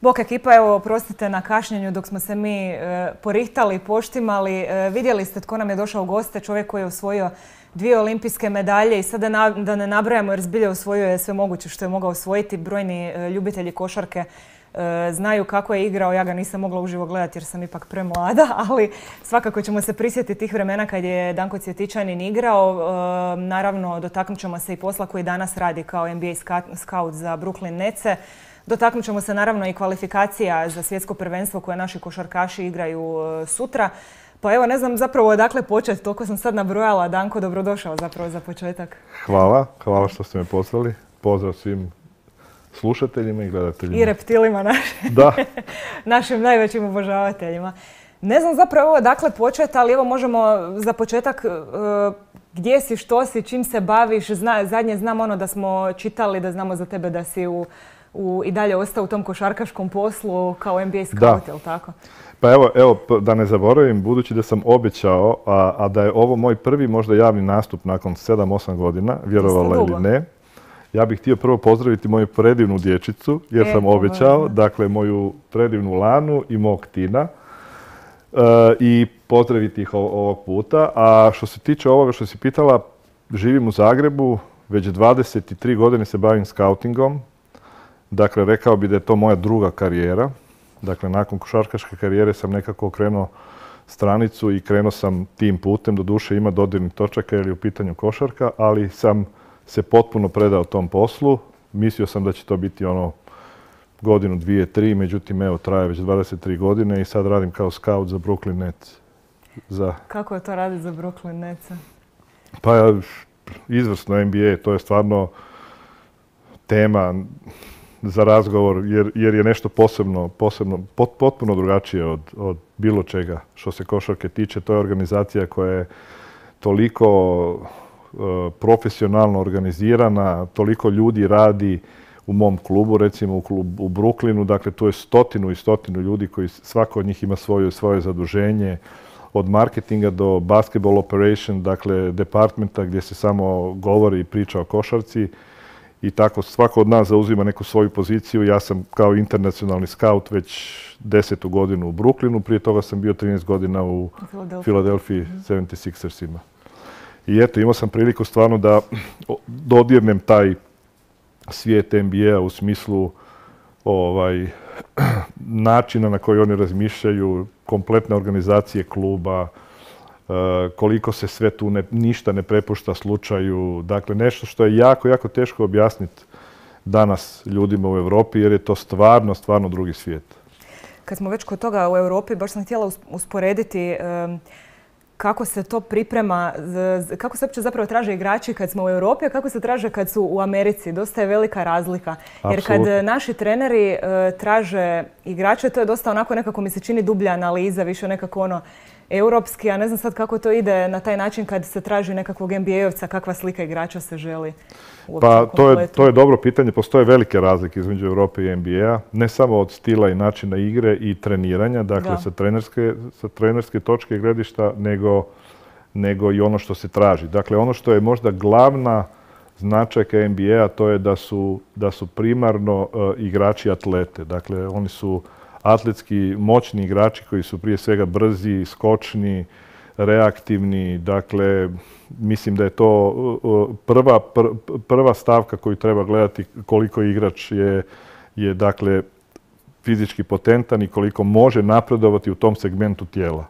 Bok ekipa, evo, oprostite na kašnjenju dok smo se mi porihtali, poštimali. Vidjeli ste tko nam je došao u goste, čovjek koji je osvojio 2 olimpijske medalje i sada da ne nabrajamo jer zbilja osvojio je sve moguće što je mogao osvojiti. Brojni ljubitelji košarke znaju kako je igrao, ja ga nisam mogla uživo gledati jer sam ipak premlada, ali svakako ćemo se prisjetiti tih vremena kad je Danko Cvjetičanin igrao. Naravno, dotaknut ćemo se i posla koji danas radi kao NBA scout za Brooklyn Netse. Dotaknut ćemo se naravno i kvalifikacija za svjetsko prvenstvo koje naši košarkaši igraju sutra. Pa evo, ne znam zapravo odakle početi, toliko sam sad nabrojala. Danko, dobrodošao zapravo za početak. Hvala što ste me pozvali. Pozdrav svim slušateljima i gledateljima. I reptilima našim najvećim obožavateljima. Ne znam zapravo odakle početi, ali evo možemo za početak gdje si, što si, čim se baviš. Zadnje znam ono da smo čitali, da znamo za tebe da si i dalje ostao u tom košarkaškom poslu kao NBA scout, je li tako? Pa evo, da ne zaboravim, budući da sam obećao, a da je ovo moj prvi možda javni nastup nakon 7-8 godina, vjerovala ili ne, ja bih htio prvo pozdraviti moju predivnu dječicu, jer sam obećao, dakle moju predivnu Lanu i mog Tina, i pozdraviti ih ovog puta. A što se tiče ovoga što si pitala, živim u Zagrebu, već 23 godine se bavim skautingom. Dakle, rekao bi da je to moja druga karijera. Dakle, nakon košarkaške karijere sam nekako okrenuo stranicu i krenuo sam tim putem. Doduše ima dodirnih točaka jer je u pitanju košarka, ali sam se potpuno predao tom poslu. Mislio sam da će to biti godinu, 2, 3, međutim evo traje već 23 godine i sad radim kao scout za Brooklyn Nets. Kako je to raditi za Brooklyn Nets? Pa izvrsno NBA, to je stvarno tema za razgovor jer je nešto posebno, potpuno drugačije od bilo čega što se košarke tiče. To je organizacija koja je toliko profesionalno organizirana, toliko ljudi radi u mom klubu, recimo u Brooklynu. Dakle, tu je 100 ljudi koji svako od njih ima svoje zaduženje. Od marketinga do basketball operation, dakle departmenta gdje se samo govori i priča o košarci. I tako svako od nas zauzima neku svoju poziciju. Ja sam kao internacionalni scout već 10. godinu u Brooklynu. Prije toga sam bio 13 godina u Philadelphia 76ersima. I eto, imao sam priliku stvarno da dodirnem taj svijet NBA u smislu načina na koji oni razmišljaju, kompletne organizacije kluba, koliko se sve tu ništa ne prepušta slučaju. Dakle, nešto što je jako, jako teško objasniti danas ljudima u Europi jer je to stvarno drugi svijet. Kad smo već kod toga u Europi, baš sam htjela usporediti kako se to priprema, kako se uopće zapravo traže igrači kad smo u Europi, a kako se traže kad su u Americi. Dosta je velika razlika. Jer kad naši treneri traže igrače, to je dosta onako nekako mi se čini dublja analiza, više nekako europski, a ne znam sad kako to ide na taj način kad se traži nekakvog NBA-ovca, kakva slika igrača se želi uopće pa to je dobro pitanje. Postoje velike razlike između Europe i NBA-a, ne samo od stila i načina igre i treniranja, dakle sa trenerske točke gledišta, nego i ono što se traži. Dakle, ono što je možda glavna značajka NBA-a, to je da su primarno igrači atlete. Dakle, oni su atletski moćni igrači koji su prije svega brzi, skočni, reaktivni. Dakle, mislim da je to prva stavka koju treba gledati koliko igrač je dakle fizički potentan i koliko može napredovati u tom segmentu tijela.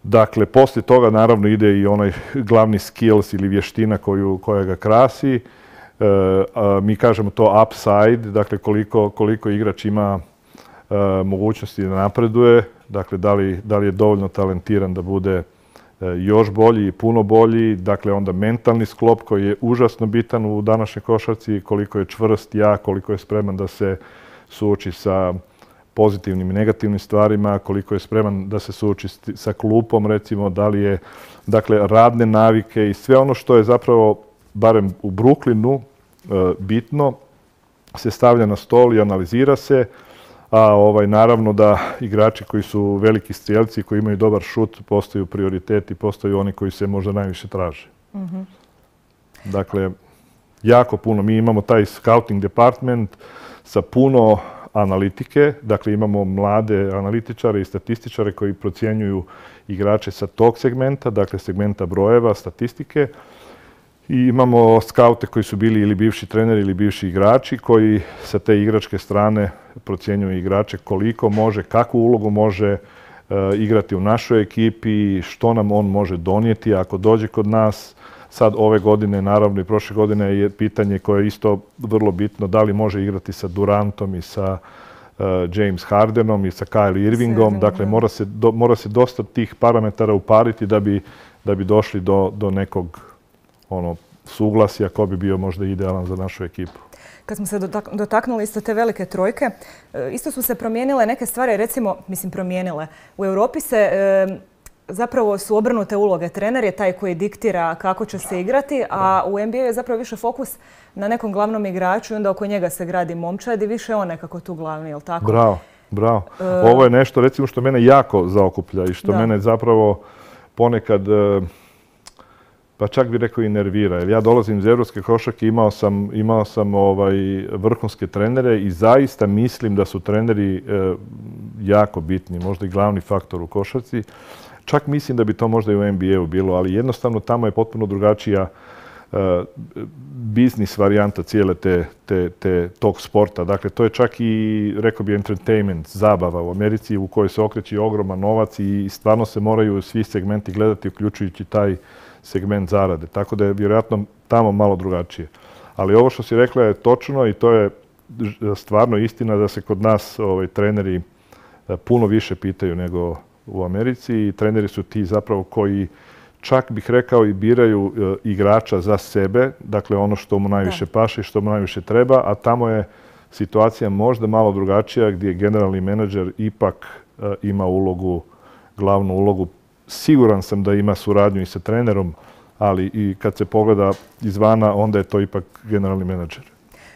Dakle, poslije toga naravno ide i onaj glavni skills ili vještina koja ga krasi. Mi kažemo to upside, dakle koliko igrač ima mogućnosti da napreduje, dakle da li je dovoljno talentiran da bude još bolji i puno bolji, dakle onda mentalni sklop koji je užasno bitan u današnjoj košarci, koliko je čvrst, jak, koliko je spreman da se suoči sa pozitivnim i negativnim stvarima, koliko je spreman da se suoči sa klupom, recimo, da li je, dakle, radne navike i sve ono što je zapravo, barem u Brooklynu, bitno, se stavlja na stol i analizira se, a naravno da igrači koji su veliki strijelci, koji imaju dobar šut, postaju prioriteti, postaju oni koji se možda najviše traže. Dakle, jako puno. Mi imamo taj scouting department sa puno analitike. Dakle, imamo mlade analitičare i statističare koji procjenjuju igrače sa tog segmenta, dakle segmenta brojeva, statistike. I imamo skaute koji su bili ili bivši treneri ili bivši igrači koji sa te igračke strane procjenjuju igrače koliko može, kakvu ulogu može igrati u našoj ekipi, što nam on može donijeti ako dođe kod nas. Sad ove godine, naravno i prošle godine je pitanje koje je isto vrlo bitno, da li može igrati sa Durantom i sa James Hardenom i sa Kyrie Irvingom. Dakle, mora se dosta tih parametara upariti da bi došli do nekog suglasja ko bi bio možda idealan za našu ekipu. Kad smo se dotaknuli isto te velike trojke, isto su se promijenile neke stvari, recimo, promijenile. U Europi se zapravo su obrnute uloge. Trener je taj koji diktira kako će se igrati, a u NBA je zapravo više fokus na nekom glavnom igraču i onda oko njega se gradi momčad i više on nekako tu glavni, je li tako? Bravo. Ovo je nešto, recimo, što mene jako zaokuplja i što mene zapravo ponekad, pa čak bih rekao i nervira. Jer ja dolazim iz evropske košarke, imao sam vrhunske trenere i zaista mislim da su treneri jako bitni, možda i glavni faktor u košarci. Čak mislim da bi to možda i u NBA-u bilo, ali jednostavno tamo je potpuno drugačija biznis varijanta cijele tog sporta. Dakle, to je čak i, rekao bi, entertainment, zabava u Americi u kojoj se okreće ogroman novac i stvarno se moraju svi segmenti gledati, uključujući taj segment zarade. Tako da je vjerojatno tamo malo drugačije. Ali ovo što si rekla je točno i to je stvarno istina da se kod nas treneri puno više pitaju nego u Americi i treneri su ti zapravo koji čak bih rekao i biraju igrača za sebe, dakle ono što mu najviše paše i što mu najviše treba, a tamo je situacija možda malo drugačija gdje generalni menadžer ipak ima glavnu ulogu. Siguran sam da ima suradnju i sa trenerom, ali i kad se pogleda izvana, onda je to ipak generalni menadžer.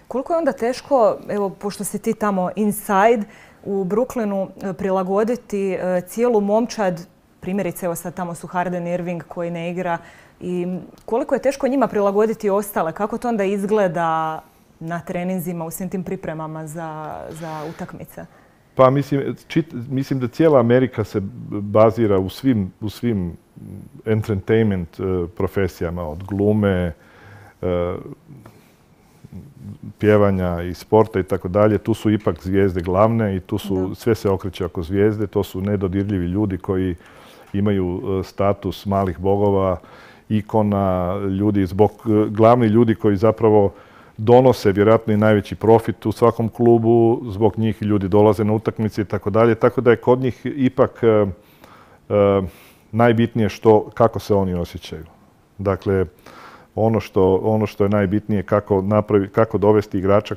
Koliko je onda teško, evo, pošto si ti tamo inside, u Brooklynu prilagoditi cijelu momčad, primjerice, evo sad tamo su Harden i Irving koji ne igra, i koliko je teško njima prilagoditi ostale? Kako to onda izgleda na treninzima, u svim tim pripremama za utakmice? Pa mislim da cijela Amerika se bazira u svim entertainment profesijama, od glume, pjevanja i sporta i tako dalje. Tu su ipak zvijezde glavne i sve se okreće oko zvijezde. To su nedodirljivi ljudi koji imaju status malih bogova, ikona, glavni ljudi koji zapravo donose vjerojatno i najveći profit u svakom klubu, zbog njih ljudi dolaze na utakmice i tako dalje. Tako da je kod njih ipak najbitnije kako se oni osjećaju. Dakle, ono što je najbitnije kako dovesti igrača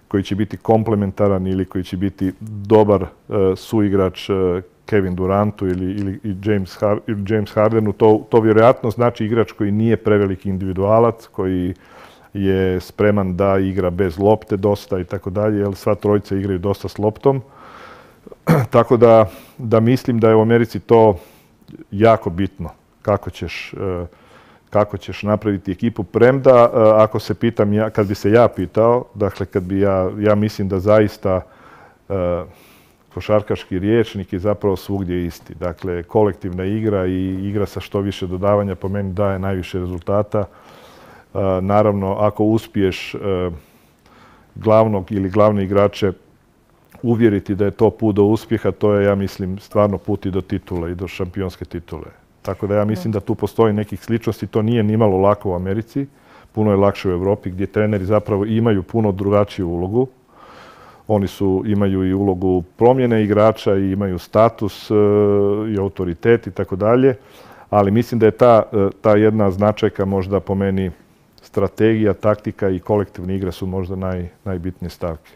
koji će biti komplementaran ili koji će biti dobar suigrač Kevin Durantu ili James Hardenu. To vjerojatno znači igrač koji nije preveliki individualac, koji je spreman da igra bez lopte dosta i tako dalje, jer sva trojica igraju dosta s loptom. Tako da mislim da je u Americi to jako bitno, kako ćeš napraviti ekipu. Premda, ako se pitam, kad bi se ja pitao, dakle, ja mislim da zaista košarkaški rječnik je zapravo svugdje isti. Dakle, kolektivna igra i igra sa što više dodavanja po meni daje najviše rezultata. Naravno, ako uspiješ glavnog ili glavne igrače uvjeriti da je to put do uspjeha, to je, ja mislim, stvarno put i do titule i do šampionske titule. Tako da ja mislim da tu postoji nekih sličnosti. To nije nimalo lako u Americi. Puno je lakše u Europi gdje treneri zapravo imaju puno drugačiju ulogu. Oni imaju i ulogu promjene igrača i imaju status i autoritet i tako dalje. Ali mislim da je ta jedna značajka možda po meni strategija, taktika i kolektivne igre su možda najbitnije stavke.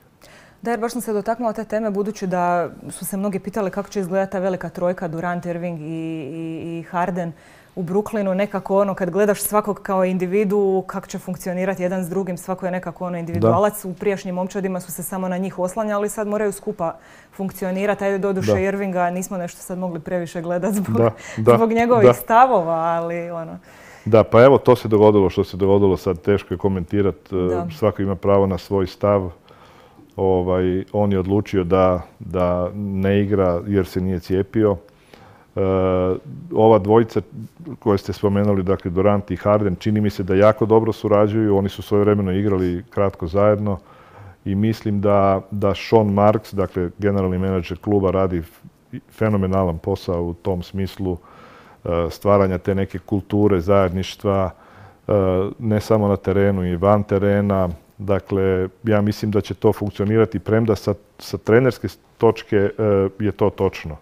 Da, jer baš sam se dotaknula te teme budući da su se mnogi pitali kako će izgledati ta velika trojka Durant, Irving i Harden u Brooklynu. Nekako kad gledaš svakog kao individu, kako će funkcionirati jedan s drugim, svako je nekako individualac. U prijašnjim momčadima su se samo na njih oslanjali, sad moraju skupa funkcionirati. Ajde, doduše Irvinga nismo nešto sad mogli previše gledati zbog njegovih stavova, ali Da, pa evo to se dogodilo što se dogodilo, sad teško je komentirati. Svako ima pravo na svoj stav. On je odlučio da ne igra jer se nije cijepio. Ova dvojica koje ste spomenuli, dakle Durant i Harden, čini mi se da jako dobro surađuju. Oni su svojevremeno igrali kratko zajedno i mislim da Sean Marks, dakle generalni menadžer kluba, radi fenomenalan posao u tom smislu stvaranja te neke kulture zajedništva, ne samo na terenu i van terena. Dakle, ja mislim da će to funkcionirati, premda sa trenerske točke je to točno.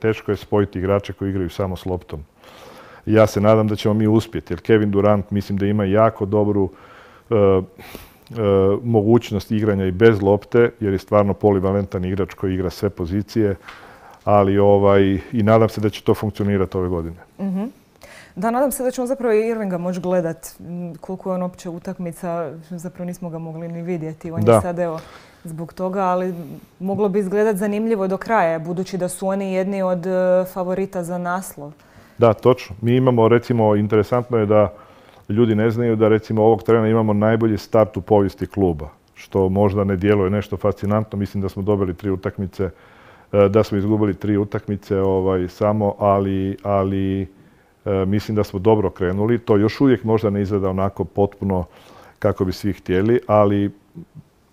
Teško je spojiti igrače koji igraju samo s loptom. Ja se nadam da ćemo mi uspjeti, jer Kevin Durant mislim da ima jako dobru mogućnost igranja i bez lopte, jer je stvarno polivalentan igrač koji igra sve pozicije, ali i nadam se da će to funkcionirati ove godine. Da, nadam se da ćemo zapravo i Irvinga moći gledati. Koliko je on opće utakmica, zapravo nismo ga mogli ni vidjeti. On je sad evo zbog toga, ali moglo bi izgledati zanimljivo do kraja, budući da su oni jedni od favorita za naslov. Da, točno. Mi imamo, recimo, interesantno je da ljudi ne znaju da recimo ovog trena imamo najbolji start u povijesti kluba, što možda ne djeluje nešto fascinantno. Mislim da smo dobili 3 utakmice, da smo izgubili 3 utakmice samo, ali mislim da smo dobro krenuli. To još uvijek možda ne izgleda onako potpuno kako bi svi htjeli, ali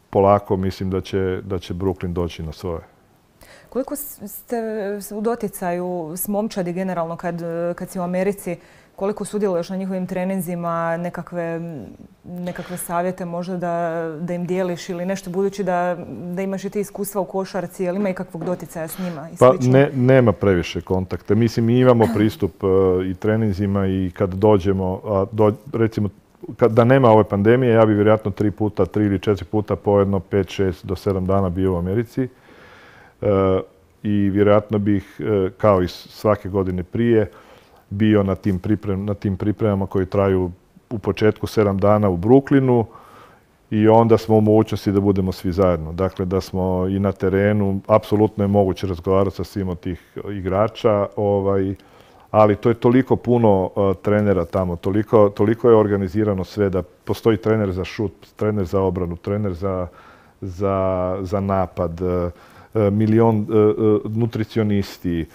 polako mislim da će Brooklyn doći na svoje. Koliko ste u doticaju s momčadi generalno kad si u Americi? Koliko sudjeluješ na njihovim treninzima, nekakve savjete možda da im dijeliš ili nešto, budući da imaš i ti iskustva u košarci, ali ima i kakvog doticaja s njima i slično? Pa nema previše kontakta. Mislim, mi imamo pristup i treninzima i kad dođemo, recimo, da nema ove pandemije, ja bi vjerojatno 3 ili 4 puta po jedno 5, 6 do 7 dana bio u Americi. I vjerojatno bih, kao i svake godine prije, bio na tim pripremama koji traju u početku 7 dana u Brooklynu i onda smo u mogućnosti da budemo svi zajedno. Dakle, da smo i na terenu, apsolutno je moguće razgovarati sa svim od tih igrača, ali to je toliko puno trenera tamo, toliko je organizirano sve da postoji trener za šut, trener za obranu, trener za napad, milion nutricionisti,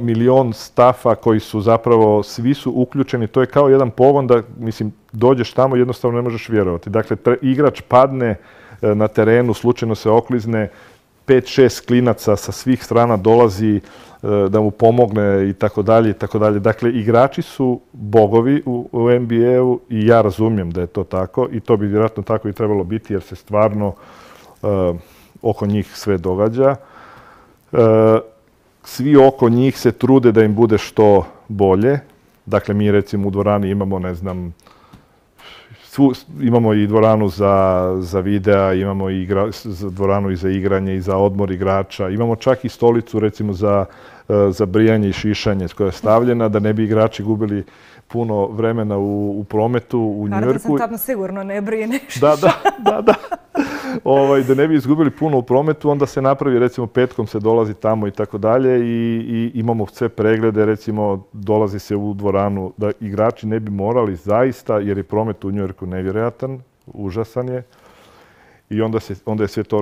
milion stafa koji su zapravo, svi su uključeni. To je kao jedan pogon da, mislim, dođeš tamo, jednostavno ne možeš vjerovati. Dakle, igrač padne na terenu, slučajno se oklizne, 5-6 klinaca sa svih strana dolazi da mu pomogne i tako dalje i tako dalje. Dakle, igrači su bogovi u NBA-u i ja razumijem da je to tako i to bi vjerojatno tako i trebalo biti jer se stvarno oko njih sve događa. Svi oko njih se trude da im bude što bolje. Dakle, mi recimo u dvorani imamo, ne znam, imamo i dvoranu za videa, imamo i dvoranu i za igranje i za odmor igrača. Imamo čak i stolicu recimo za brijanje i šišanje koja je stavljena da ne bi igrači gubili puno vremena u prometu u New Yorku. Harden se tamo sigurno ne brije nešto. Da. Da ne bi izgubili puno u prometu, onda se napravi, recimo petkom se dolazi tamo i tako dalje i imamo sve preglede, recimo dolazi se u dvoranu da igrači ne bi morali zaista, jer je promet u New Yorku nevjerojatan, užasan je i onda je sve to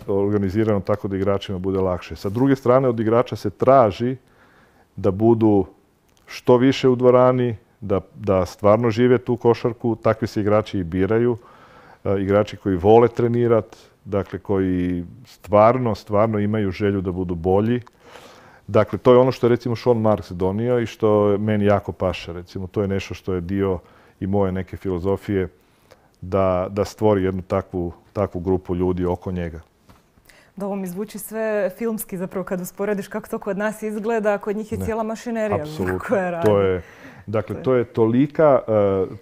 organizirano tako da igračima bude lakše. Sa druge strane, od igrača se traži da budu što više u dvorani, da stvarno žive tu košarku, takvi se igrači i biraju. Igrači koji vole trenirati, dakle koji stvarno imaju želju da budu bolji. Dakle, to je ono što je recimo Sean Marks donio i što meni jako paše. Recimo, to je nešto što je dio i moje neke filozofije da stvori jednu takvu grupu ljudi oko njega. Da, ovo mi zvuči sve filmski zapravo kad usporediš kako to kod nas izgleda, kod njih je cijela mašinerija koja radi. Dakle, to je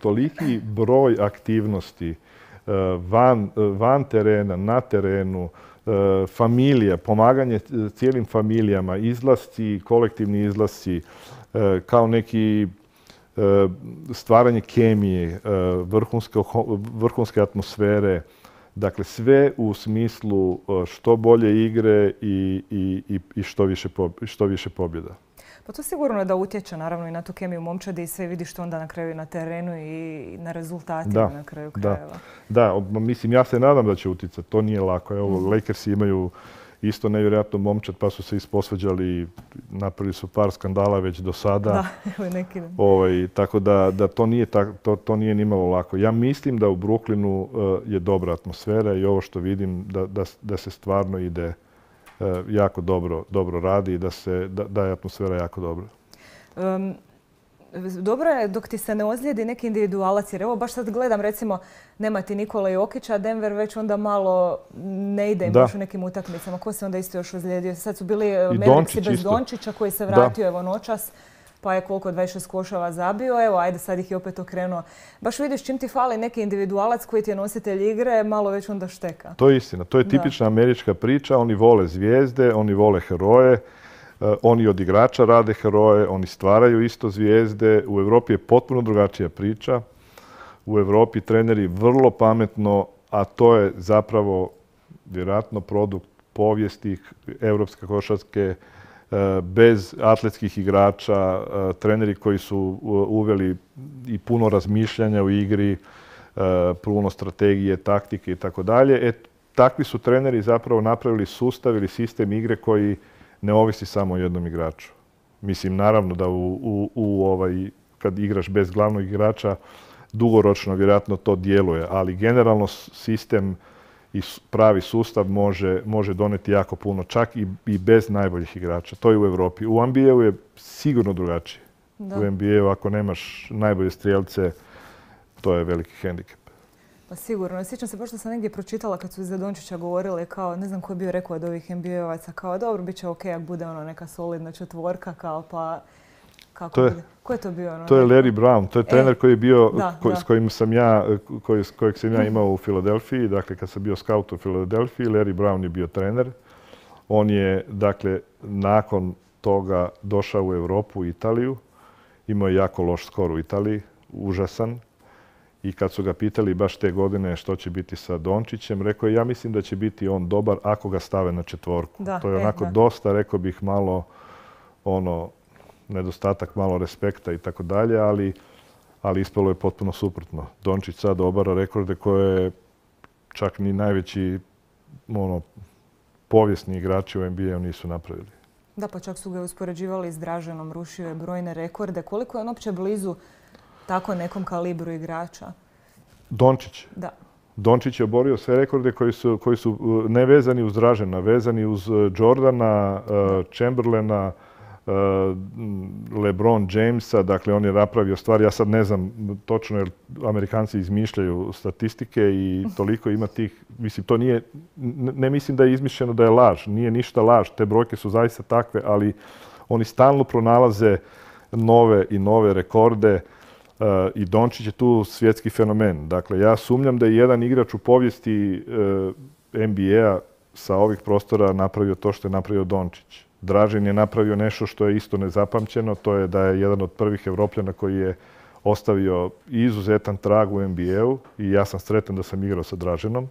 toliki broj aktivnosti van terena, na terenu, familija, pomaganje cijelim familijama, izlasci, kolektivni izlasci, kao neki stvaranje kemije, vrhunske atmosfere. Dakle, sve u smislu što bolje igre i što više pobjeda. Pa to sigurno da utječe naravno i na tu kemiju momčadi i sve vidiš što onda na kraju na terenu i na rezultatima na kraju krajeva. Da, mislim, ja se nadam da će utjecati. To nije lako. Evo, Lakersi imaju isto nevjerojatno momčad, pa su se isposvađali, napravili su par skandala već do sada. Da, evo neki. Tako da to nije nimalo lako. Ja mislim da u Brooklynu je dobra atmosfera i ovo što vidim da se stvarno ide jako dobro radi i da je atmosfera jako dobra. Dobro je dok ti se ne ozlijedi neki individualac, jer evo baš sad gledam recimo nema ti Nikola Jokića, Denver već onda malo ne ide im baš u nekim utakmicama. Ko se onda isto još ozlijedio? Sad su bili Mavericksi bez Dončića koji se vratio evo noćas, pa je koliko 26 košava zabio. Evo, ajde sad ih je opet okrenuo. Baš vidiš čim ti fali neki individualac koji ti je nositelj igre, malo već onda šteka. To je istina. To je tipična američka priča. Oni vole zvijezde, oni vole heroje. Oni od igrača rade heroje, oni stvaraju isto zvijezde. U Europi je potpuno drugačija priča. U Europi treneri vrlo pametno, a to je zapravo vjerojatno produkt povijesti europske košarke, bez atletskih igrača, treneri koji su uveli i puno razmišljanja u igri, puno strategije, taktike i tako dalje. Takvi su treneri zapravo napravili sustav ili sistem igre koji ne ovisi samo o jednom igraču. Mislim, naravno da kad igraš bez glavnog igrača, dugoročno vjerojatno to djeluje, ali generalno sistem i pravi sustav može doneti jako puno, čak i bez najboljih igrača. To je u Europi. U NBA-u je sigurno drugačije. U NBA-u ako nemaš najbolje strijelce, to je veliki hendikep. Pa sigurno. Sjećam se, pošto sam negdje pročitala kad su za Dončića govorili kao, ne znam ko je bio rekao od ovih NBA-ovaca, kao dobro, bit će ok, ako bude neka solidna četvorka, kao pa... Ko je to bio? To je Larry Brown. To je trener koji je bio, s kojim sam kojeg sam ja imao u Filadelfiji. Dakle, kad sam bio scout u Filadelfiji, Larry Brown je bio trener. On je, dakle, nakon toga došao u Europu, u Italiju. Imao je jako loš skor u Italiji, užasan. I kad su ga pitali baš te godine što će biti sa Dončićem, rekao je ja mislim da će biti on dobar ako ga stave na četvorku. To je onako dosta, rekao bih, malo nedostatak malo respekta i tako dalje, ali ispalo je potpuno suprotno. Dončić sad obara rekorde koje čak ni najveći povijesni igrači u NBA-u nisu napravili. Da, pa čak su ga uspoređivali s Draženom, rušio je brojne rekorde. Koliko je on uopće blizu tako nekom kalibru igrača? Dončić? Da. Dončić je oborio sve rekorde koji su ne vezani uz Dražena, vezani uz Jordana, Chamberlaina, LeBron Jamesa, dakle on je napravio stvari, ja sad ne znam točno jer Amerikanci izmišljaju statistike i toliko ima tih, mislim to nije, ne mislim da je izmišljeno da je laž, nije ništa laž, te brojke su zaista takve, ali oni stalno pronalaze nove i nove rekorde i Dončić je tu svjetski fenomen. Dakle, ja sumnjam da je jedan igrač u povijesti NBA sa ovih prostora napravio to što je napravio Dončić. Dražen je napravio nešto što je isto nezapamćeno, to je da je jedan od prvih Evropljana koji je ostavio izuzetan trag u NBA-u i ja sam sretan da sam igrao sa Draženom.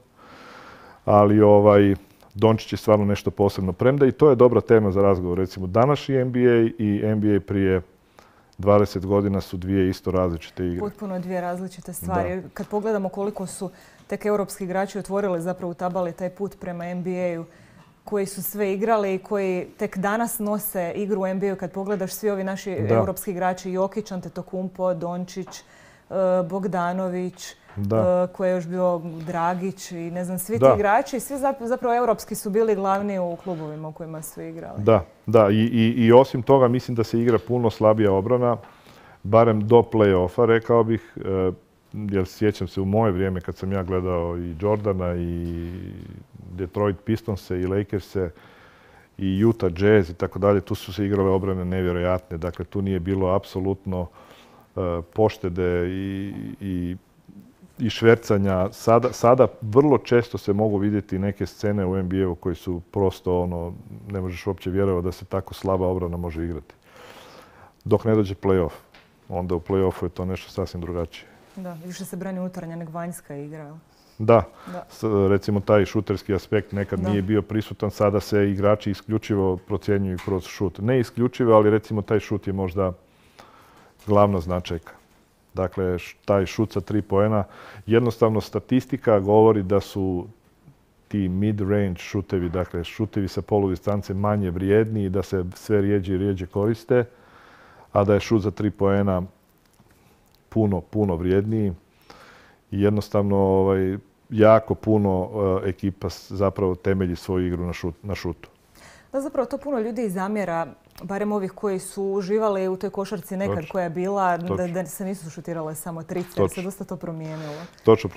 Ali Dončić je stvarno nešto posebno. Premda i to je dobra tema za razgovor. Recimo, današnji NBA i NBA prije 20 godina su dvije isto različite igre. Potpuno dvije različite stvari. Da. Kad pogledamo koliko su tek europski igrači otvorili, zapravo utabali taj put prema NBA-u, koji su sve igrali i koji tek danas nose igru u NBA-u. Kad pogledaš svi ovi naši europski igrači, Jokić, Antetokounmpo, Dončić, Bogdanović, koji je još bio Dragić i ne znam, svi ti igrači, svi zapravo europski su bili glavni u klubovima u kojima su igrali. Da. I osim toga mislim da se igra puno slabija obrana, barem do play-offa, rekao bih, jer sjećam se u moje vrijeme kad sam ja gledao i Jordana i Detroit Pistonse i Lakerse i Utah Jazz i tako dalje, tu su se igrale obrane nevjerojatne. Dakle, tu nije bilo apsolutno poštede i švercanja. Sada vrlo često se mogu vidjeti neke scene u NBA-u koji su prosto ne možeš uopće vjerovati da se tako slaba obrana može igrati. Dok ne dođe play-off. Onda u play-offu je to nešto sasvim drugačije. Da, više se brani unutarnja nego vanjska igra. Da. Recimo taj šuterski aspekt nekad nije bio prisutan, sada se igrači isključivo procjenjuju kroz šut. Ne isključivo, ali recimo taj šut je možda glavna značajka. Dakle, taj šut sa 3 poena. Jednostavno statistika govori da su ti mid-range šutevi, dakle šutevi sa poludistance manje vrijedni i da se sve rijeđe i rijeđe koriste, a da je šut za 3 poena puno vrijedniji. I jednostavno jako puno ekipa zapravo temelji svoju igru na šutu. Da, zapravo to puno ljudi zamjera, barem ovih koji su uživali u toj košarci nekad koja je bila, da se nisu šutirale samo trice, jer se dosta to promijenilo. Točno,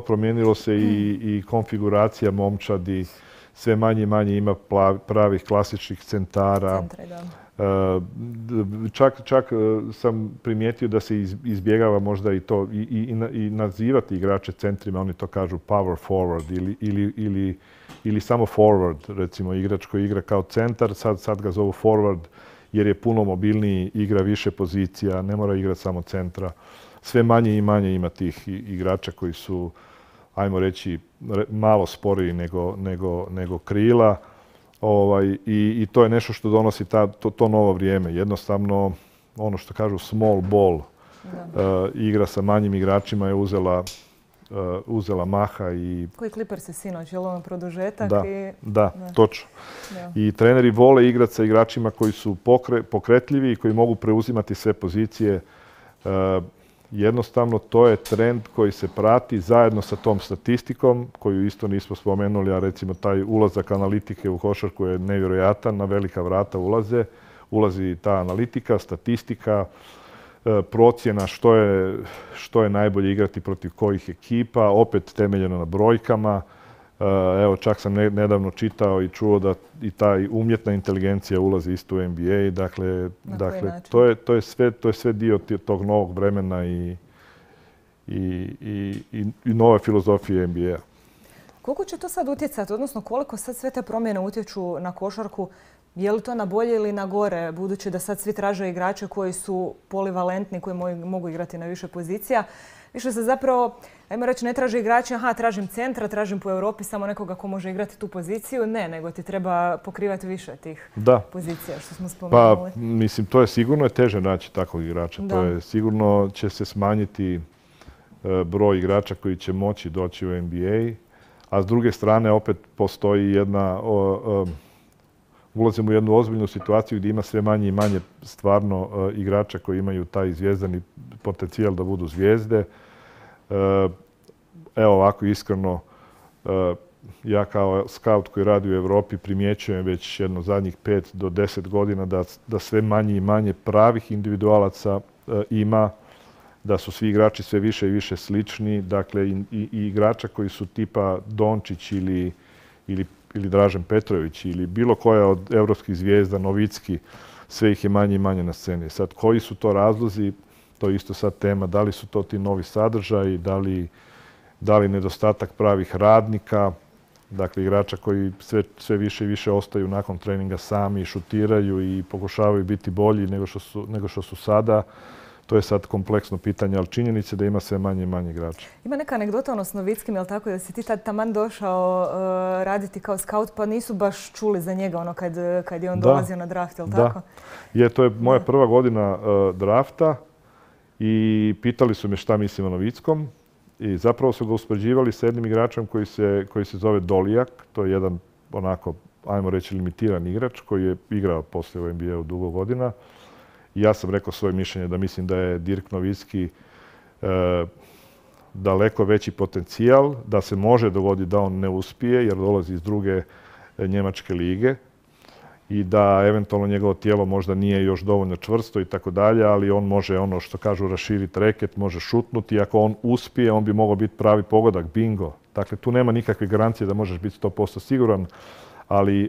promijenilo se i konfiguracija momčadi, sve manje i manje ima pravih klasičnih centara. Čak sam primijetio da se izbjegava možda i to i nazivati igrače centrima, oni to kažu power forward ili samo forward, recimo igrač koji igra kao centar, sad ga zovu forward jer je puno mobilniji, igra više pozicija, ne mora igrati samo centra. Sve manje i manje ima tih igrača koji su, ajmo reći, malo sporiji nego krila. I to je nešto što donosi to novo vrijeme. Jednostavno, ono što kažu small ball, igra sa manjim igračima je uzela maha. Koji Clippers je sinoć, je li ono produžetak? Da, točno. I treneri vole igrati sa igračima koji su pokretljivi i koji mogu preuzimati sve pozicije. Jednostavno, to je trend koji se prati zajedno sa tom statistikom, koju isto nismo spomenuli, a recimo taj ulazak analitike u košarku je nevjerojatan, na velika vrata ulazi ta analitika, statistika, procjena što je najbolje igrati protiv kojih ekipa, opet temeljeno na brojkama. Evo, čak sam nedavno čitao i čuo da i ta umjetna inteligencija ulazi isto u NBA. Dakle, to je sve dio tog novog vremena i nove filozofije NBA. Koliko će to sad utjecati, odnosno koliko sad sve te promjene utječu na košarku? Je li to na bolje ili na gore, budući da sad svi traže igrače koji su polivalentni, koji mogu igrati na više pozicija? Više se zapravo, ajmo reći, ne traži igrači, tražim centra, tražim po Europi samo nekoga ko može igrati tu poziciju. Ne, nego ti treba pokrivati više tih pozicija, što smo spomenuli. Pa, mislim, to je sigurno teže naći takvog igrača. To je sigurno će se smanjiti broj igrača koji će moći doći u NBA, a s druge strane opet postoji ulazimo u jednu ozbiljnu situaciju gdje ima sve manje i manje stvarno igrača koji imaju taj zvijezdani potencijal da budu zvijezde. Evo ovako iskreno, ja kao scout koji radi u Europi primjećujem već jedno zadnjih 5 do 10 godina da sve manje i manje pravih individualaca ima, da su svi igrači sve više i više slični. Dakle, i igrača koji su tipa Dončić ili Dražen Petrović ili bilo koja od europskih zvijezda, Novicki, sve ih je manje i manje na sceni. Sad, koji su to razlozi, to je isto sad tema, da li su to ti novi sadržaji, da li nedostatak pravih radnika, dakle igrača koji sve više i više ostaju nakon treninga sami, šutiraju i pokušavaju biti bolji nego što su sada. To je sad kompleksno pitanje, ali činjenica je da ima sve manje i manje igrača. Ima neka anegdota s Novickim, je li tako, da si ti tad taman došao raditi kao scout, pa nisu baš čuli za njega kad je on dolazio na draft, je li tako? Da, to je moja prva godina drafta i pitali su me šta mislim o Novickom i zapravo su ga uspoređivali sa jednim igračem koji se zove Dolijak. To je jedan onako, ajmo reći, limitiran igrač koji je igrao poslije u NBA-u dugo godina. Ja sam rekao svoje mišljenje da mislim da je Dirk Novicki daleko veći potencijal, da se može dogoditi da on ne uspije jer dolazi iz druge njemačke lige i da eventualno njegovo tijelo možda nije još dovoljno čvrsto i tako dalje, ali on može, ono što kažu, raširiti reket, može šutnuti i ako on uspije, on bi mogao biti pravi pogodak, bingo. Dakle, tu nema nikakve garancije da možeš biti 100% siguran,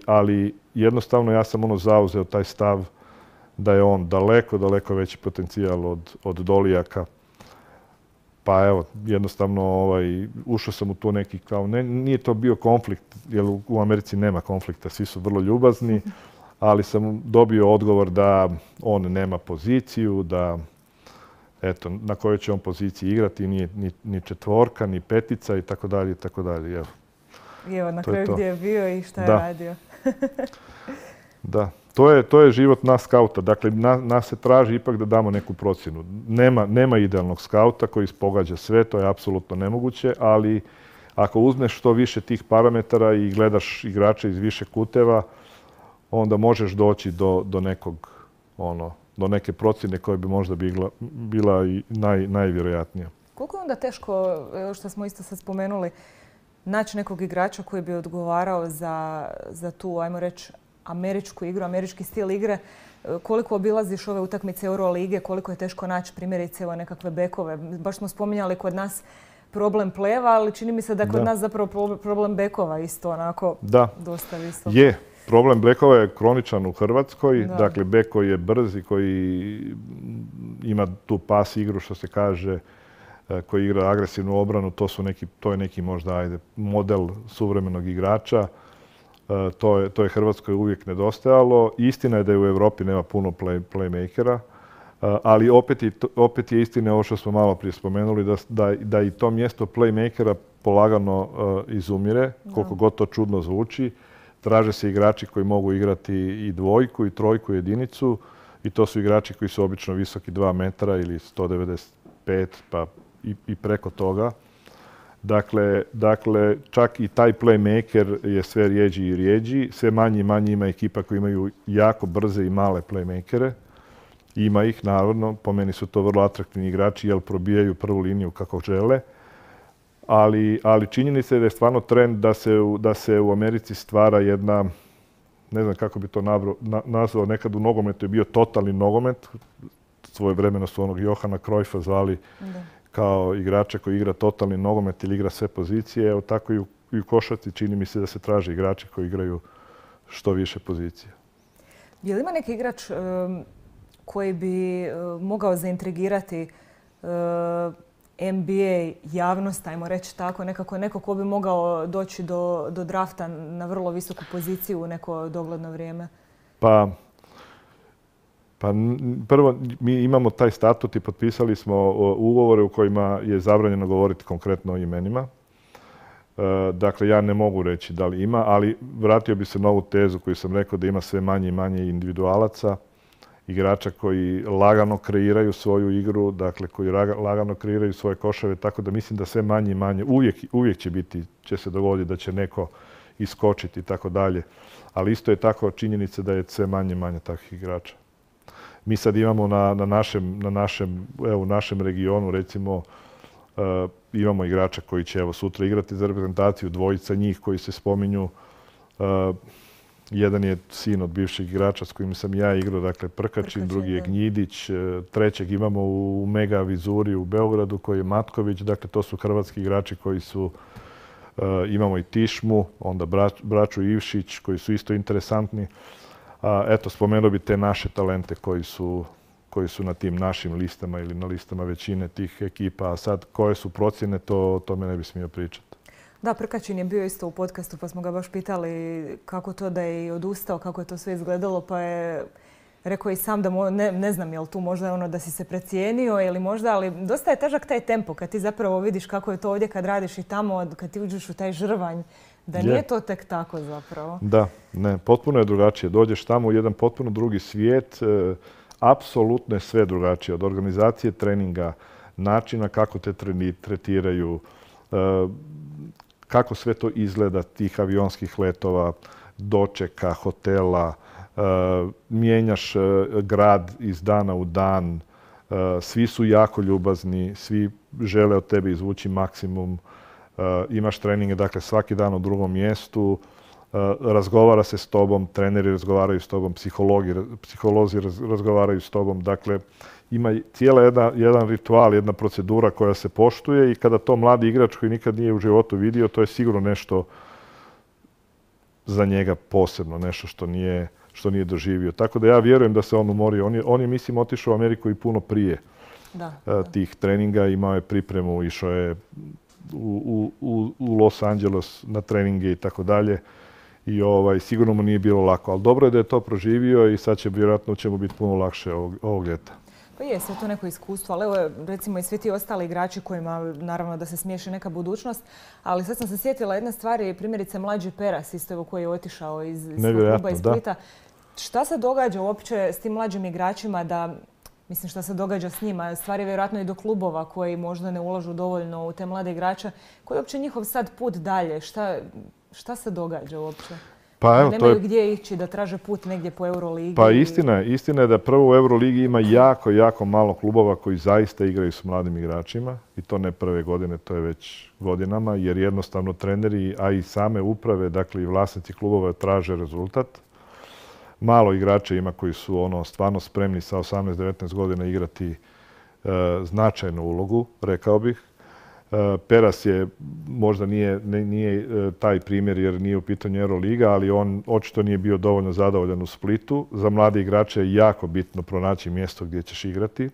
ali jednostavno ja sam zauzeo taj stav da je on daleko veći potencijal od Dolijaka. Pa evo, jednostavno ušao sam u tu neki kao, nije to bio konflikt, jer u Americi nema konflikta, svi su vrlo ljubazni, ali sam dobio odgovor da on nema poziciju, eto, na kojoj će on poziciji igrati, nije ni četvorka, ni petica i tako dalje, i tako dalje. Evo. I evo na kraju gdje je bio i šta je radio. Da. To je život nas skauta. Dakle, nas se traži ipak da damo neku procjenu. Nema idealnog skauta koji pogađa sve, to je apsolutno nemoguće, ali ako uzmeš što više tih parametara i gledaš igrače iz više kuteva, onda možeš doći do neke procjene koja bi možda bila i najvjerojatnija. Koliko je onda teško, što smo isto sad spomenuli, naći nekog igrača koji bi odgovarao za tu, ajmo reći, američku igru, američki stil igre? Koliko obilaziš ove utakmice Eurolige, koliko je teško naći primjerice nekakve bekove? Baš smo spominjali kod nas problem pleva, ali čini mi se da je kod nas zapravo problem bekova isto onako dosta visok. Je. Problem bekova je kroničan u Hrvatskoj. Dakle, bek koji je brz i koji ima tu pas igru, što se kaže, koji igra agresivnu obranu, to je neki možda model suvremenog igrača. To je Hrvatskoj uvijek nedostajalo. Istina je da je u Europi nema puno playmakera, ali opet je istina ovo što smo malo prije spomenuli, da i to mjesto playmakera polagano izumire, koliko god to čudno zvuči. Traže se igrači koji mogu igrati i dvojku, i trojku, i jedinicu, i to su igrači koji su obično visoki 2 metra ili 195, pa i preko toga. Dakle, čak i taj playmaker je sve rijeđi i rijeđi. Sve manje i manje ima ekipa koji imaju jako brze i male playmakere. Ima ih, naravno. Po meni su to vrlo atraktivni igrači jer probijaju prvu liniju kako žele. Ali činjenica je da je stvarno trend da se u Americi stvara jedna, ne znam kako bi to nazvao, nekad u nogometu je bio totalni nogomet. Svojevremeno su onog Johana Cruyffa zvali kao igrača koji igra totalni nogomet ili igra sve pozicije. Evo tako i u košarci čini mi se da se traže igrači koji igraju što više pozicije. Je li ima neki igrač koji bi mogao zaintrigirati NBA javnost, ajmo reći tako, neko ko bi mogao doći do drafta na vrlo visoku poziciju u neko dogledno vrijeme? Pa prvo, mi imamo taj statut i potpisali smo ugovore u kojima je zabranjeno govoriti konkretno o imenima. Dakle, ja ne mogu reći da li ima, ali vratio bi se na ovu tezu koju sam rekao da ima sve manje i manje individualaca, igrača koji lagano kreiraju svoju igru, dakle koji lagano kreiraju svoje koševe, tako da mislim da sve manje i manje, uvijek će se dogoditi da će neko iskočiti i tako dalje, ali isto je tako činjenica da je sve manje i manje takvih igrača. Mi sad imamo u našem regionu, recimo, imamo igrača koji će sutra igrati za reprezentaciju, dvojica njih koji se spominju. Jedan je sin od bivšeg igrača s kojim sam ja igrao, dakle Prkačin, drugi je Gnjidić, trećeg imamo u Mega Vizuri u Beogradu koji je Matković, dakle to su hrvatski igrači koji su, imamo i Tišmu, onda braću Ivšić koji su isto interesantni. Eto, spomenuo bi te naše talente koji su na tim našim listama ili na listama većine tih ekipa, a sad koje su procjene, to me ne bi smio pričati. Da, Prkačin je bio isto u podcastu pa smo ga baš pitali kako to da je i odustao, kako je to sve izgledalo, pa je rekao i sam da ne znam je li tu možda da si se precijenio ili možda, ali dosta je težak taj tempo kad ti zapravo vidiš kako je to ovdje kad radiš i tamo, kad ti uđeš u taj žrvanj, da nije to tek tako zapravo. Da, ne, potpuno je drugačije. Dođeš tamo u jedan potpuno drugi svijet, apsolutno je sve drugačije. Od organizacije treninga, načina kako te tretiraju, kako sve to izgleda, tih avionskih letova, dočeka, hotela, mijenjaš grad iz dana u dan, svi su jako ljubazni, svi žele od tebe izvući maksimum, imaš treninge, dakle svaki dan u drugom mjestu, razgovara se s tobom, treneri razgovaraju s tobom, psiholozi razgovaraju s tobom, dakle ima cijela jedan ritual, jedna procedura koja se poštuje i kada to mladi igrač koji nikad nije u životu vidio, to je sigurno nešto za njega posebno, nešto što nije doživio. Tako da ja vjerujem da se on umorio. On je mislim, otišao u Ameriku i puno prije tih treninga, imao je pripremu, išao je u Los Angeles na treninge i tako dalje. I sigurno mu nije bilo lako, ali dobro je da je to proživio i sad će vjerojatno biti puno lakše ovog ljeta. Pa je, sve to neko iskustvo, ali evo recimo i svi ti ostali igrači kojima naravno da se smiješi neka budućnost, ali sad sam se sjetila jedne stvari, primjerice mlađi Peras isto koji je otišao iz svog kluba iz Splita. Šta se događa uopće s tim mlađim igračima mislim šta se događa s njima, stvari vjerojatno i do klubova koji možda ne ulažu dovoljno u te mlade igrače, koji je uopće njihov sad put dalje, šta se događa uopće? Pa evo, nemaju gdje ići da traže put negdje po Euroligi. Pa istina je da prvo u Euroligi ima jako malo klubova koji zaista igraju s mladim igračima i to ne prve godine, to je već godinama, jer jednostavno treneri, a i same uprave, dakle i vlasnici klubova traže rezultat. Malo igrača ima koji su stvarno spremni sa 18-19 godina igrati značajnu ulogu, rekao bih. Peras je, možda nije taj primjer jer nije u pitanju Euroliga, ali on očito nije bio dovoljno zadovoljan u Splitu. Za mlade igrače je jako bitno pronaći mjesto gdje ćeš igrati,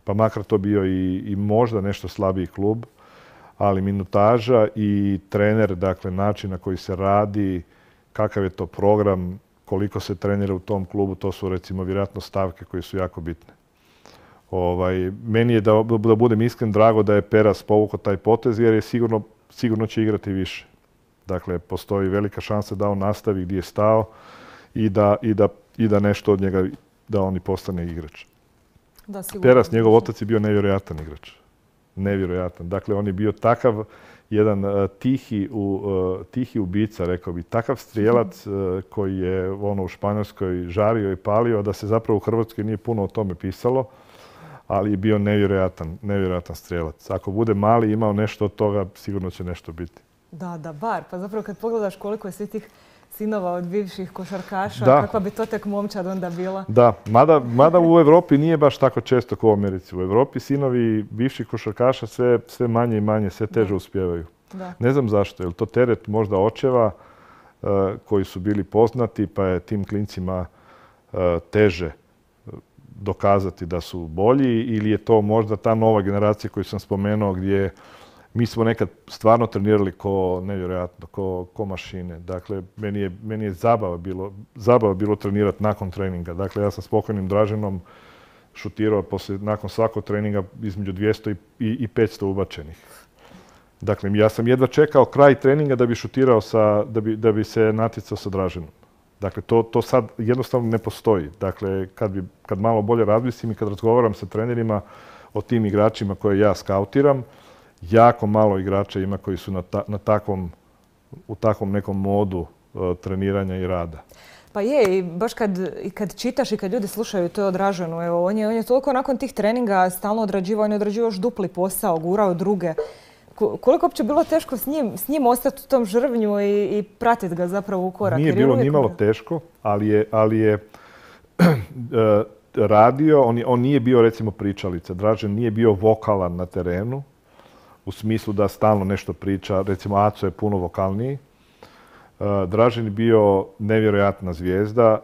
pa makar to bio i možda nešto slabiji klub, ali minutaža i trener, dakle način na koji se radi, kakav je to program, koliko se trenira u tom klubu, to su recimo vjerojatno stavke koje su jako bitne. Meni je, da budem iskren, drago da je Peras povukao taj potez jer je sigurno će igrati više. Dakle, postoji velika šansa da on nastavi gdje je stao i da nešto od njega, da on i postane igrač. Peras, njegov otac je bio nevjerojatan igrač. Nevjerojatan. Dakle, on je bio takav jedan tihi ubica, rekao bi, takav strijelac koji je u Španjolskoj žario i palio, da se zapravo u Hrvatskoj nije puno o tome pisalo, ali je bio nevjerojatan strijelac. Ako bude mali imao nešto od toga, sigurno će nešto biti. Da, bar. Pa zapravo kad pogledaš koliko je svih tih sinova od bivših košarkaša, kakva bi to tek momčad onda bila? Da, mada u Europi nije baš tako često kao u Americi. U Europi sinovi bivših košarkaša sve manje i manje, sve teže uspijevaju. Ne znam zašto, je li to teret možda očeva koji su bili poznati, pa je tim klincima teže dokazati da su bolji, ili je to možda ta nova generacija koju sam spomenuo gdje mi smo nekad stvarno trenirali nevjerojatno, ko mašine. Dakle, meni je zabava bilo trenirati nakon treninga. Dakle, ja sam s pokojnim Draženom šutirao nakon svakog treninga između 200 i 500 ubačenih. Dakle, ja sam jedva čekao kraj treninga da bi šutirao da bi se natjecao sa Draženom. Dakle, to sad jednostavno ne postoji. Dakle, kad malo bolje razmislim i kad razgovaram sa trenerima o tim igračima koje ja skautiram, jako malo igrača ima koji su u takvom nekom modu treniranja i rada. Pa je, i baš kad čitaš i kad ljudi slušaju to je odraženo. Evo, on je toliko nakon tih treninga stalno odrađivao, on je odrađivao još dupli posao, gurao druge. Koliko uopće bilo teško s njim ostati u tom žrvnju i pratiti ga zapravo u korak? Nije bilo nimalo teško, ali je radio, on nije bio recimo pričalica. Dražen nije bio vokalan na terenu, u smislu da stalno nešto priča. Recimo Aco je puno vokalniji. Dražen je bio nevjerojatna zvijezda,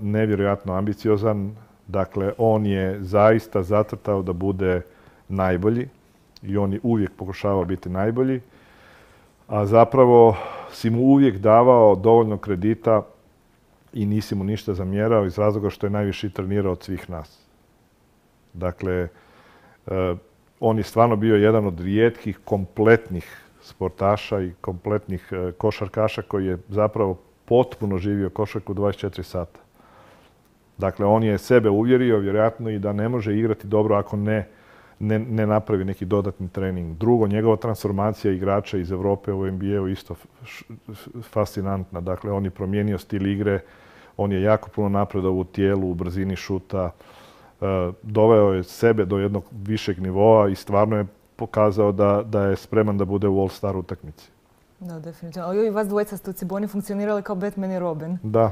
nevjerojatno ambiciozan. Dakle, on je zaista zacrtao da bude najbolji. I on je uvijek pokušavao biti najbolji, a zapravo si mu uvijek davao dovoljno kredita i nisi mu ništa zamjerao iz razloga što je najviše trenirao od svih nas. Dakle, on je stvarno bio jedan od rijetkih kompletnih sportaša i kompletnih košarkaša koji je zapravo potpuno živio košarku 24 sata. Dakle, on je sebe uvjerio vjerojatno i da ne može igrati dobro ako ne napravi neki dodatni trening. Drugo, njegova transformacija igrača iz Europe u NBA-u isto fascinantna. Dakle, on je promijenio stil igre, on je jako puno napredovao u tijelu, u brzini šuta, doveo je sebe do jednog višeg nivoa i stvarno je pokazao da je spreman da bude u All-Star utakmici. Da, definitivno. Ali i vas dvojica ste u Ciboni funkcionirali kao Batman i Robin. Da,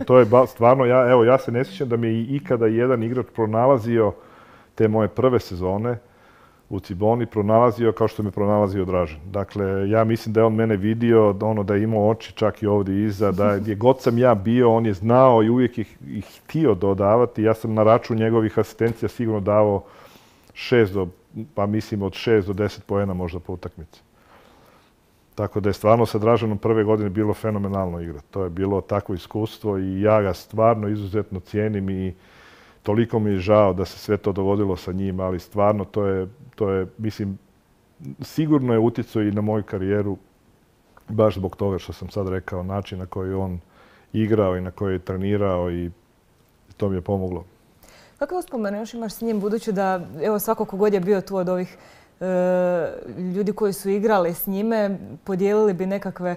to je stvarno, ja se ne sjećam da mi je ikada jedan igrač pronalazio te moje prve sezone u Ciboni, pronalazio kao što me pronalazio Dražen. Dakle, ja mislim da je on mene vidio, da je imao oči čak i ovdje iza, da gdje god sam ja bio, on je znao i uvijek ih htio dodavati. Ja sam na račun njegovih asistencija sigurno davao od 6 do 10 poena možda po utakmici. Tako da je stvarno sa Draženom prve godine bilo fenomenalno igrati. To je bilo takvo iskustvo i ja ga stvarno izuzetno cijenim i toliko mi je žao da se sve to dogodilo sa njim, ali stvarno to je, mislim, sigurno je utjecao i na moju karijeru, baš zbog toga što sam sad rekao, način na koji on igrao i na koji je trenirao i to mi je pomoglo. Kakve uspomene još imaš s njim, budući da evo, svako kogod je bio tu od ovih ljudi koji su igrali s njime, podijelili bi nekakve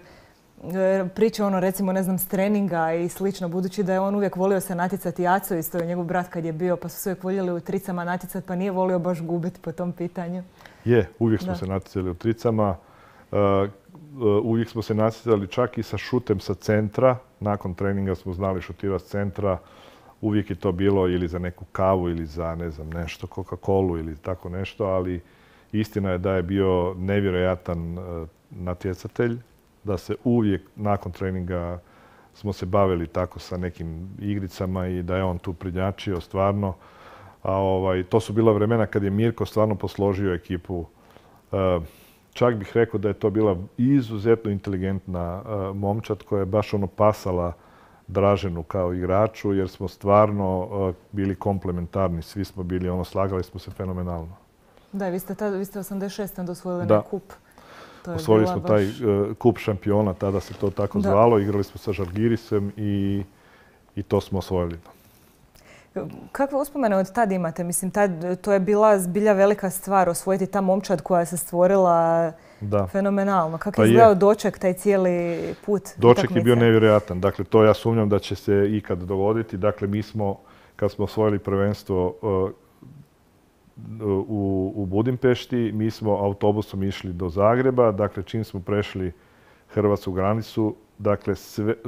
priče, recimo, ne znam, s treninga i slično, budući da je on uvijek volio se natjecati. Aco isto je njegov brat kad je bio, pa su se uvijek voljeli u tricama natjecati, pa nije volio baš gubiti po tom pitanju. Uvijek smo se natjecali u tricama. Uvijek smo se natjecali čak i sa šutem sa centra. Nakon treninga smo znali šutirati s centra. Uvijek je to bilo ili za neku kavu ili za, ne znam, nešto, Coca-Colu ili tako nešto, ali istina je da je bio nevjerojatan natjecatelj, da se uvijek nakon treninga smo se bavili tako sa nekim igricama i da je on tu prednjačio stvarno. To su bila vremena kad je Mirko stvarno posložio ekipu. Čak bih rekao da je to bila izuzetno inteligentna momčad koja je baš pasala Draženu kao igraču, jer smo stvarno bili komplementarni. Svi smo bili, slagali smo se fenomenalno. Da, vi ste 86. dosvojili na kup. Osvojili smo taj kup šampiona, tada se to tako zvalo. Igrali smo sa Žalgirisem i to smo osvojili. Kakve uspomene od tad imate? Mislim, to je bila zbilja velika stvar, osvojiti ta momčad koja se stvorila fenomenalno. Kako je izgledao doček, taj cijeli put? Doček je bio nevjerojatan. Dakle, to ja sumnjam da će se ikad dogoditi. Dakle, mi smo, kad smo osvojili prvenstvo u Budimpešti, mi smo autobusom išli do Zagreba. Dakle, čim smo prešli hrvatsku granicu, dakle,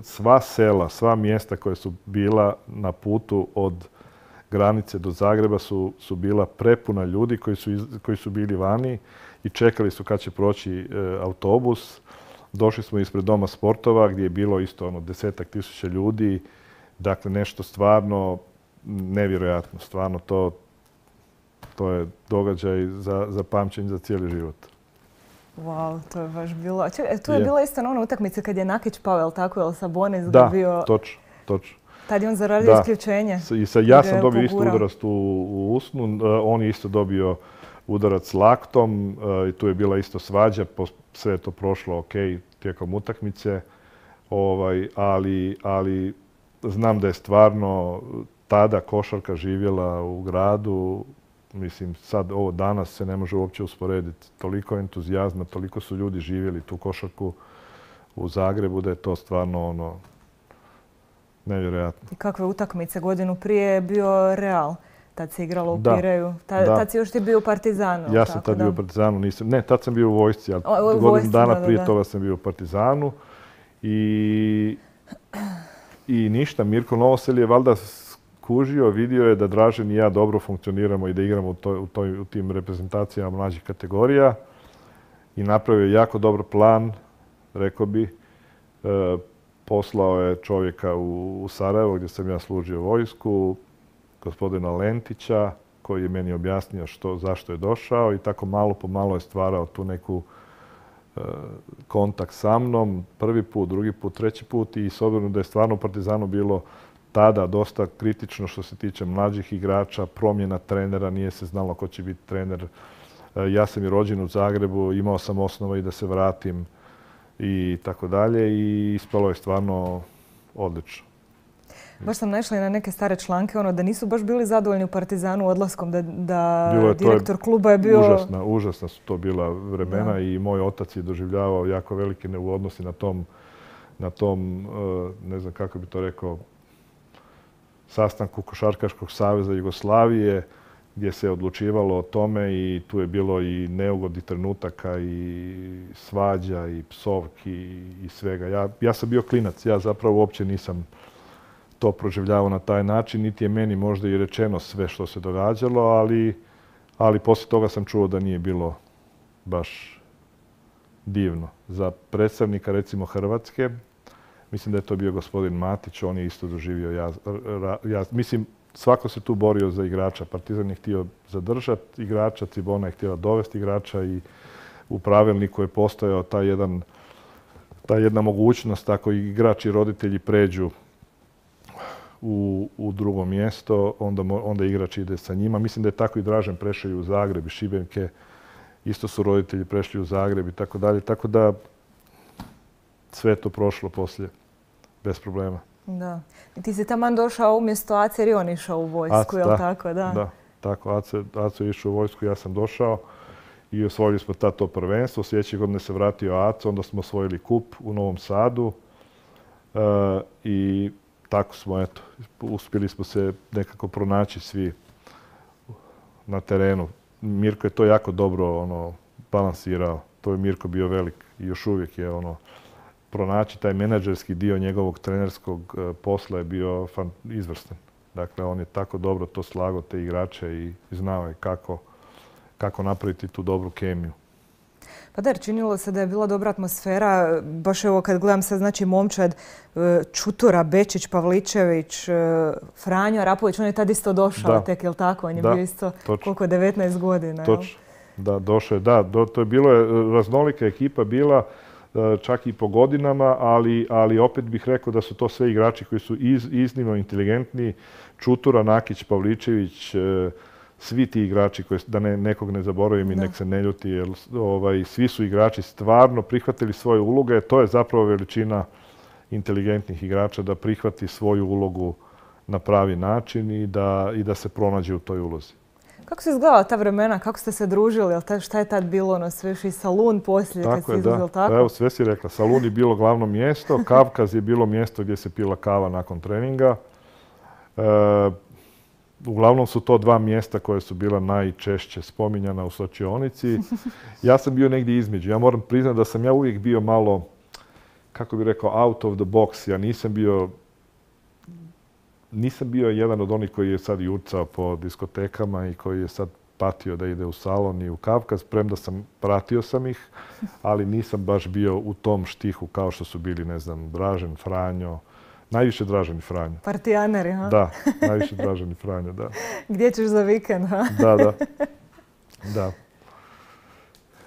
sva sela, sva mjesta koja su bila na putu od granice do Zagreba su bila prepuna ljudi koji su bili vani i čekali su kad će proći autobus. Došli smo ispred Doma sportova gdje je bilo isto 10.000 ljudi. Dakle, nešto stvarno nevjerojatno. Stvarno to je događaj za pamćenje za cijeli život. Wow, to je baš bilo... Tu je bila isto ona utakmica kad je Nakić pao, jel tako? Jel Sabonis bio... Da, točno. Tad je on zaradio isključenje. Ja sam dobio isto udarac u usnu. On je isto dobio udarac s laktom i tu je bila isto svađa. Sve je to prošlo ok tijekom utakmice. Ali znam da je stvarno tada košarka živjela u gradu. Mislim, sad ovo danas se ne može uopće usporediti. Toliko entuzijazma, toliko su ljudi živjeli tu košarku u Zagrebu da je to stvarno nevjerojatno. I kakve utakmice? Godinu prije je bio Real. Tad se igralo u Pireju. Tad si još ti bio u Partizanu. Ja sam tad bio u Partizanu. Ne, tad sam bio u vojsci. Godinu dana prije toga sam bio u Partizanu. I ništa. Mirko Novosel je valjda kužio, vidio je da Dražen i ja dobro funkcioniramo i da igramo u tim reprezentacijama mlađih kategorija i napravio je jako dobar plan, rekao bi. Poslao je čovjeka u Sarajevo gdje sam ja služio vojsku, gospodina Lentića, koji je meni objasnio zašto je došao i tako malo po malo je stvarao tu neku kontakt sa mnom. Prvi put, drugi put, treći put i s obzirom da je stvarno u Partizanu bilo tada dosta kritično što se tiče mlađih igrača, promjena trenera, nije se znalo ko će biti trener. Ja sam i rođen u Zagrebu, imao sam osnova i da se vratim i tako dalje i ispalo je stvarno odlično. Baš sam naišla i na neke stare članke, da nisu baš bili zadovoljni u Partizanu odlaskom, da direktor kluba je bio... Užasna su to bila vremena i moj otac je doživljavao jako velike neugodnosti na tom, ne znam kako bi to rekao, sastanku Košarkaškog saveza Jugoslavije gdje se odlučivalo o tome i tu je bilo i neugodnih trenutaka i svađa i psovki i svega. Ja sam bio klinac, ja zapravo uopće nisam to proživljavao na taj način, niti je meni možda i rečeno sve što se događalo, ali poslije toga sam čuo da nije bilo baš divno. Za predstavnika recimo Hrvatske, mislim da je to bio gospodin Matić, on je isto doživio. Mislim, svako se tu borio za igrača. Partizan je htio zadržati igrača, Cibona je htjela dovesti igrača i u pravilniku je postojao ta jedna mogućnost ako igrač i roditelji pređu u drugo mjesto, onda igrač ide sa njima. Mislim da je tako i Dražen prešao i u Zagreb i Šibenke. Isto su roditelji prešli u Zagreb i tako dalje. Tako da sve je to prošlo poslije, bez problema. Da. I ti si taman došao umjesto Ace, jer je on išao u vojsku, je li tako? Da, tako. Aco je išao u vojsku, ja sam došao i osvojili smo to prvenstvo. Sljedeće godine se vratio Aco, onda smo osvojili kup u Novom Sadu i tako smo, eto, uspjeli smo se nekako pronaći svi na terenu. Mirko je to jako dobro balansirao. To je Mirko bio velik i još uvijek je pronaći taj menadžerski dio njegovog trenerskog posla je bio izvrstan. Dakle, on je tako dobro to slagao, te igrače i znao je kako napraviti tu dobru kemiju. Pa da, jer činilo se da je bila dobra atmosfera. Baš evo kad gledam sad, znači momčad Čutura, Bečić, Pavličević, Franjo Arapović, on je tad isto došao tek, jel tako? On je bio isto, koliko, 19 godina. Točno, da, došao je, da. To je bilo, raznolika ekipa bila, čak i po godinama, ali opet bih rekao da su to sve igrači koji su iznimno inteligentni. Čutura, Nakić, Pavličević, svi ti igrači, da nekog ne zaboravim i nek se ne ljuti, jer svi su igrači stvarno prihvatili svoje uloge. To je zapravo veličina inteligentnih igrača, da prihvati svoju ulogu na pravi način i da se pronađe u toj ulozi. Kako se izgledala ta vremena? Kako ste se družili? Šta je tad bilo? Sve još i Salun poslije kad si izlazio, tako? Evo, sve si rekla. Salun je bilo glavno mjesto, Kavkaz je bilo mjesto gdje se pila kava nakon treninga. Uglavnom su to dva mjesta koje su bila najčešće spominjana u slačionici. Ja sam bio negdje između. Ja moram priznati da sam ja uvijek bio malo, kako bih rekao, out of the box. Ja nisam bio jedan od onih koji je sad jurcao po diskotekama i koji je sad patio da ide u Salon i u Kavkaz, premda pratio sam ih, ali nisam baš bio u tom štihu kao što su bili, ne znam, Dražen, Franjo. Najviše Dražen i Franjo. Partijaneri, ha? Da, najviše Dražen i Franjo, da. Gdje ćeš za vikend, ha? Da.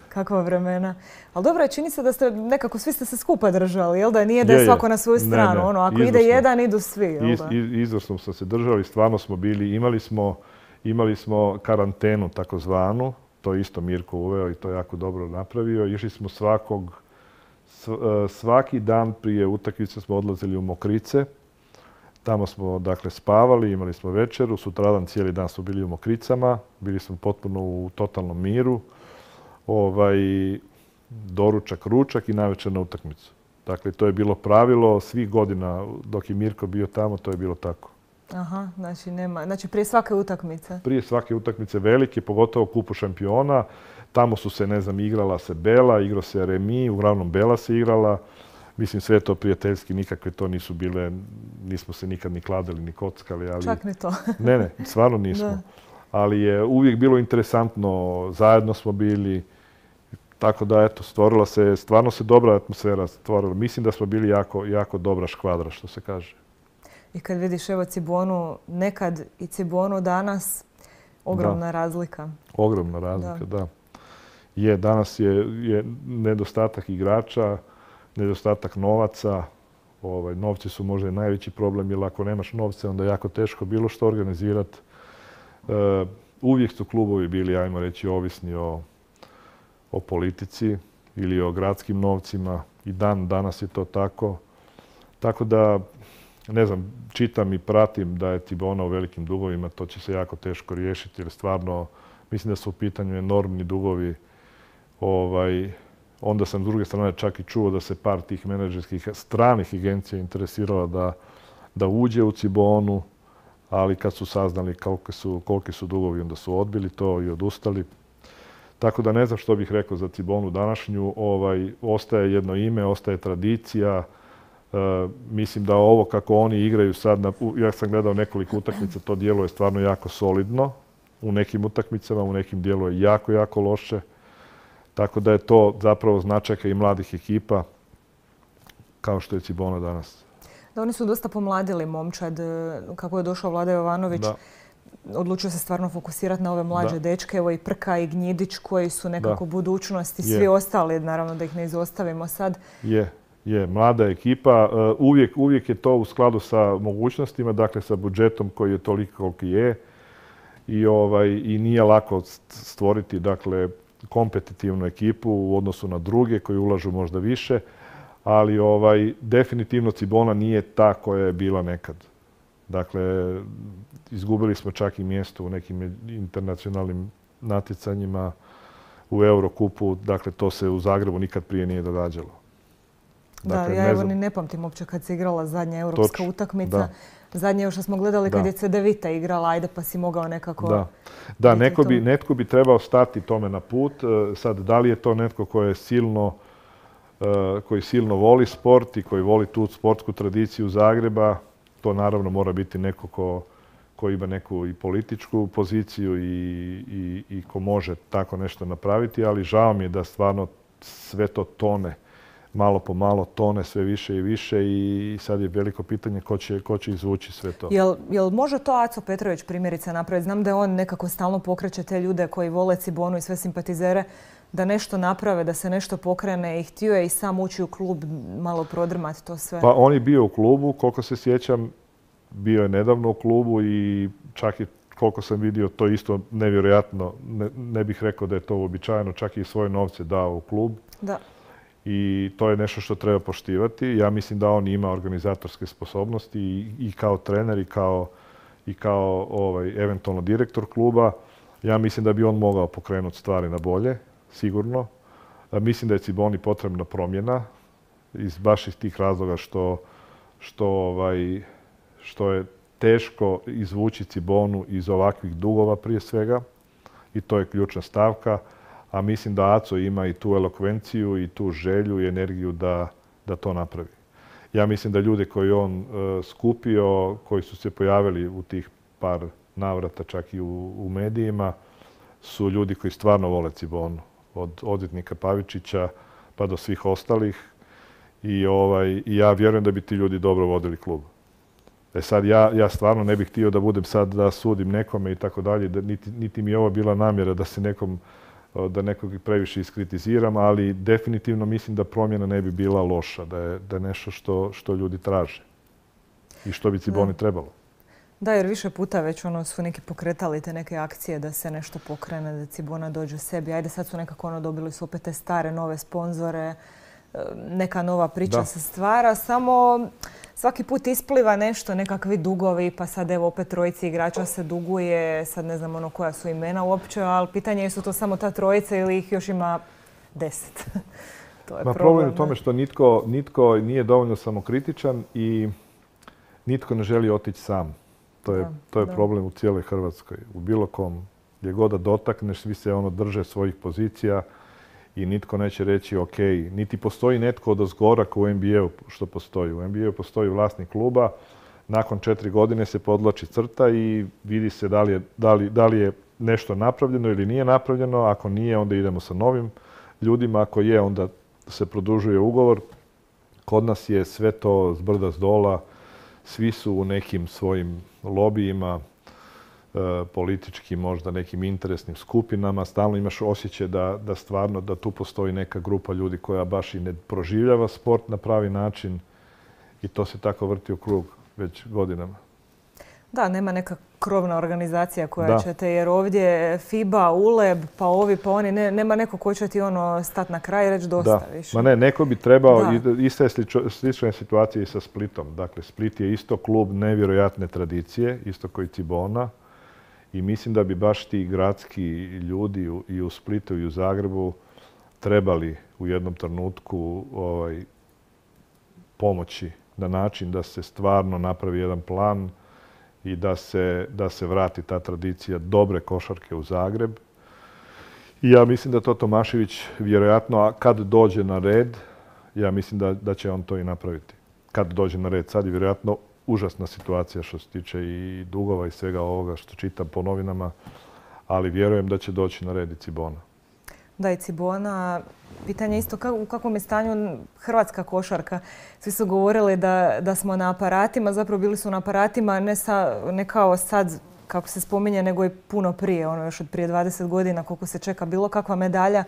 Kakva vremena. Ali dobro, čini se da ste nekako svi ste se skupa držali, jel da? Nije da je svako na svoju stranu. Ako ide jedan, idu svi, jel da? Izvrsno smo se držali, stvarno smo bili, imali smo karantenu takozvanu, to je isto Mirko uveo i to je jako dobro napravio. Išli smo svaki dan prije utakmice smo odlazili u Mokrice. Tamo smo, dakle, spavali, imali smo večeru, sutradan cijeli dan smo bili u Mokricama, bili smo potpuno u totalnom miru. Doručak, ručak i navečer na utakmicu. Dakle, to je bilo pravilo svih godina dok je Mirko bio tamo, to je bilo tako. Aha, znači prije svake utakmice? Prije svake utakmice velike, pogotovo kupu šampiona. Tamo su se, ne znam, igrala se Bela, igrao se Remi, uglavnom Bela se igrala. Mislim, sve to prijateljski, nikakve to nisu bile, nismo se nikad ni kladili, ni kockali. Ali... Čak ni to. Ne, stvarno nismo. Da. Ali je uvijek bilo interesantno, zajedno smo bili, tako da, eto, stvarno se dobra atmosfera stvorila. Mislim da smo bili jako dobra škvadra, što se kaže. I kad vidiš, evo, Cibonu nekad i Cibonu danas, ogromna razlika. Ogromna razlika, da. Danas je nedostatak igrača, nedostatak novaca. Novci su možda i najveći problem, jer ako nemaš novce, onda je jako teško bilo što organizirati. Uvijek su klubovi bili, ajmo reći, ovisni o politici ili o gradskim novcima. I danas je to tako. Tako da, ne znam, čitam i pratim da je Cibona u velikim dugovima. To će se jako teško riješiti, jer stvarno mislim da su u pitanju enormni dugovi. Onda sam s druge strane čak i čuo da se par tih menadžerskih stranih agencija interesirala da uđe u Cibonu, ali kad su saznali koliki su dugovi, onda su odbili to i odustali. Tako da ne znam što bih rekao za Cibonu današnju. Ostaje jedno ime, ostaje tradicija. Mislim da ovo kako oni igraju sad, ja sam gledao nekoliko utakmica, to djeluje stvarno jako solidno. U nekim utakmicama, u nekim djeluje jako loše. Tako da je to zapravo značajka i mladih ekipa, kao što je Cibona danas. Da, oni su dosta pomladili momčad. Kako je došao Vlada Jovanović, odlučio se stvarno fokusirati na ove mlađe dečke. Evo i Prka i Gnjidić koji su nekako budućnost i svi ostali, naravno da ih ne izostavimo sad. Je, mlada ekipa. Uvijek je to u skladu sa mogućnostima, dakle sa budžetom koji je toliko koliki je. I nije lako stvoriti, dakle, kompetitivnu ekipu u odnosu na druge koji ulažu možda više, ali definitivno Cibona nije ta koja je bila nekad. Dakle, izgubili smo čak i mjesto u nekim internacionalnim natjecanjima, u Eurokupu, dakle to se u Zagrebu nikad prije nije događalo. Dakle, ja evo ni ne pamtim uopće kad se igrala zadnja europska utakmica. Zadnje što smo gledali kad je Cedevita igrala, ajde pa si mogao nekako... Da, netko bi trebao stati tome na put. Sad, da li je to netko koji silno voli sport i koji voli tu sportsku tradiciju Zagreba, to naravno mora biti neko ko ima neku i političku poziciju i ko može tako nešto napraviti, ali žao mi je da stvarno sve to tone. Malo po malo tone sve više i više i sad je veliko pitanje ko će izvući sve to. Jel može to Aco Petrović primjerice napraviti? Znam da je on nekako stalno pokreće te ljude koji vole Cibonu i sve simpatizere da nešto naprave, da se nešto pokrene i htio je i sam ući u klub malo prodrmati to sve. Pa on je bio u klubu, koliko se sjećam, bio je nedavno u klubu i čak i koliko sam vidio to isto nevjerojatno, ne bih rekao da je to uobičajeno, čak i svoje novce dao u klub. Da. I to je nešto što treba poštivati. Ja mislim da on ima organizatorske sposobnosti i kao trener i kao eventualno direktor kluba. Ja mislim da bi on mogao pokrenuti stvari na bolje, sigurno. Mislim da je Ciboni potrebna promjena baš iz tih razloga što je teško izvući Cibonu iz ovakvih dugova prije svega i to je ključna stavka. A mislim da Aco ima i tu elokvenciju i tu želju i energiju da to napravi. Ja mislim da ljude koje on skupio, koji su se pojavili u tih par navrata čak i u medijima, su ljudi koji stvarno vole Cibonu. Od odvjetnika Pavičića pa do svih ostalih. I ja vjerujem da bi ti ljudi dobro vodili klub. Sad ja stvarno ne bih htio da budem sad da sudim nekome i tako dalje, niti mi je ovo bila namjera da nekog previše iskritiziram, ali definitivno mislim da promjena ne bi bila loša, da je nešto što ljudi traže i što bi Ciboni trebalo. Da, jer više puta već su neki pokretali te neke akcije da se nešto pokrene, da Cibona dođe sebi. Ajde, sad su nekako dobili su opet te stare, nove sponzore, neka nova priča se stvara, samo svaki put ispliva nešto, nekakvi dugovi, pa sad evo opet trojici igrača se duguje, sad ne znam koja su imena uopće, ali pitanje je su to samo ta trojica ili ih još ima 10. To je problem u tome što nitko nije dovoljno samokritičan i nitko ne želi otići sam. To je problem u cijeloj Hrvatskoj. U bilo kom, gdje god da dotakneš, svi se drže svojih pozicija i nitko neće reći ok. Niti postoji netko odozgora kao u NBA-u što postoji. U NBA-u postoji vlasnik kluba, nakon 4 godine se podvlači crta i vidi se da li je nešto napravljeno ili nije napravljeno. Ako nije, onda idemo sa novim ljudima. Ako je, onda se produžuje ugovor. Kod nas je sve to zbrda zdola. Svi su u nekim svojim lobijima, političkim, možda nekim interesnim skupinama. Stalno imaš osjećaj da stvarno da tu postoji neka grupa ljudi koja baš i ne proživljava sport na pravi način i to se tako vrti u krug već godinama. Da, nema neka krovna organizacija koja će te, jer ovdje FIBA, ULEB, pa ovi, pa oni, nema neko ko će ti stati na kraj i reći dosta više. Ma ne, neko bi trebao, ista je slična situacija i sa Splitom. Dakle, Split je isto klub nevjerojatne tradicije, isto koji Cibona. I mislim da bi baš ti gradski ljudi i u Splitu i u Zagrebu trebali u jednom trenutku pomoći na način da se stvarno napravi jedan plan i da se vrati ta tradicija dobre košarke u Zagreb. I ja mislim da to Tomašević vjerojatno, a kad dođe na red, ja mislim da će on to i napraviti. Kad dođe na red, sad je vjerojatno užasna situacija što se tiče i dugova i svega ovoga što čitam po novinama, ali vjerujem da će doći na red i Cibona. Da, i Cibona. Pitanje isto u kakvom je stanju hrvatska košarka. Svi su govorili da smo na aparatima, zapravo bili su na aparatima ne kao sad kako se spominje, nego i puno prije, još od prije 20 godina koliko se čeka bilo kakva medalja.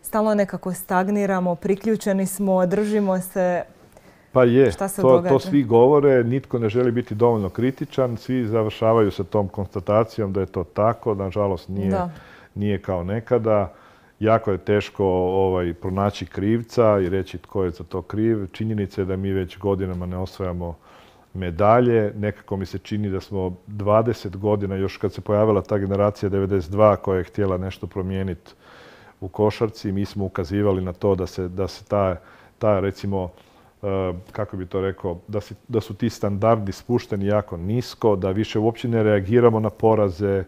Stalno nekako stagniramo, priključeni smo, držimo se. Pa je, Šta se događa? To svi govore, nitko ne želi biti dovoljno kritičan, svi završavaju sa tom konstatacijom da je to tako, nažalost nije kao nekada. Jako je teško pronaći krivca i reći tko je za to kriv. Činjenica je da mi već godinama ne osvajamo medalje. Nekako mi se čini da smo 20 godina, još kad se pojavila ta generacija 92 koja je htjela nešto promijeniti u košarci, mi smo ukazivali na to da se ta recimo, kako bi to rekao, da su ti standardi spušteni jako nisko, da više uopće ne reagiramo na poraze,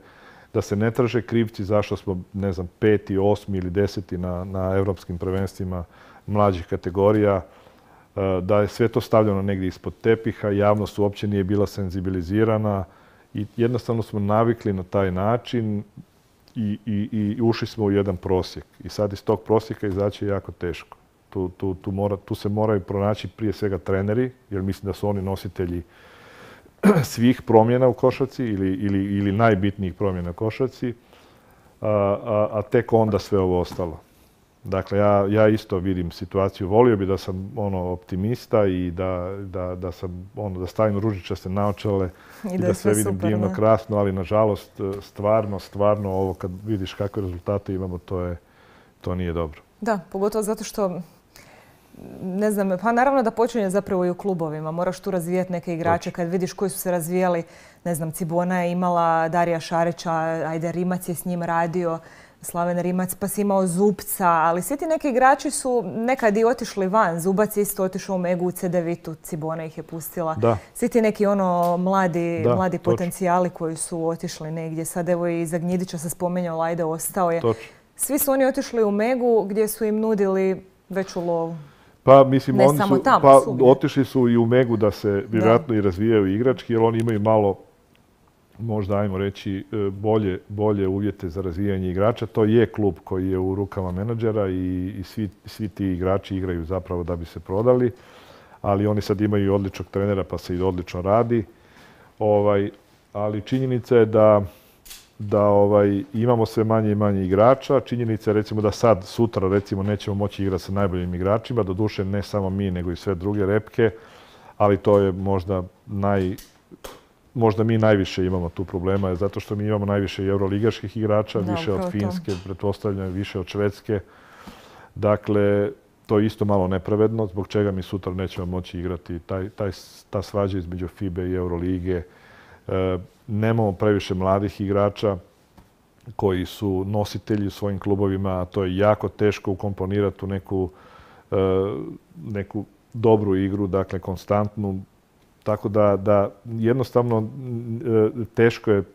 da se ne traže krivci zašto smo, ne znam, 5., 8. ili 10. na europskim prvenstvima mlađih kategorija, da je sve to stavljeno negdje ispod tepiha, javnost uopće nije bila senzibilizirana i jednostavno smo navikli na taj način i ušli smo u jedan prosjek. I sad iz tog prosjeka izaći je jako teško. Tu se moraju pronaći prije svega treneri, jer mislim da su oni nositelji svih promjena u košarci ili najbitnijih promjena u košarci, a tek onda sve ovo ostalo. Dakle, ja isto vidim situaciju. Volio bi da sam optimista i da stavim ružičaste naočale i da sve vidim divno, krasno, ali nažalost stvarno ovo kad vidiš kakve rezultate imamo, to nije dobro. Da, pogotovo zato što ne znam, pa naravno da počinje zapravo i u klubovima. Moraš tu razvijati neke igrače. Kad vidiš koji su se razvijali, ne znam, Cibona je imala Darija Šarića, ajde Rimac je s njim radio, Slaven Rimac, pa si imao Zupca, ali svi ti neki igrači su nekad i otišli van. Zubac je isto otišao u Megu u CDVitu, Cibona ih je pustila. Da. Svi ti neki mladi potencijali koji su otišli negdje. Sad evo i za Gnjidića se spomenuo, Lajde ostao je. Točno. Svi su oni otišli u Megu gdje su im nudili veću lovu. Pa mislim, otišli su i u Megu da se vjerojatno i razvijaju igrački, jer oni imaju malo, možda ajmo reći, bolje uvjete za razvijanje igrača. To je klub koji je u rukama menadžera i svi ti igrači igraju zapravo da bi se prodali, ali oni sad imaju i odličnog trenera pa se i odlično radi. Ali činjenica je da imamo sve manje i manje igrača. Činjenica je recimo da sad, sutra recimo nećemo moći igrati sa najboljim igračima, doduše ne samo mi nego i sve druge repke, ali to je možda mi najviše imamo tu problema, zato što mi imamo najviše euroligaških igrača, više od Finske, pretpostavljam, više od Švedske. Dakle, to je isto malo nepravedno, zbog čega mi sutra nećemo moći igrati ta svađa između FIBA i Eurolige. Nemamo previše mladih igrača koji su nositelji u svojim klubovima, a to je jako teško ukomponirati u neku dobru igru, dakle konstantnu. Tako da jednostavno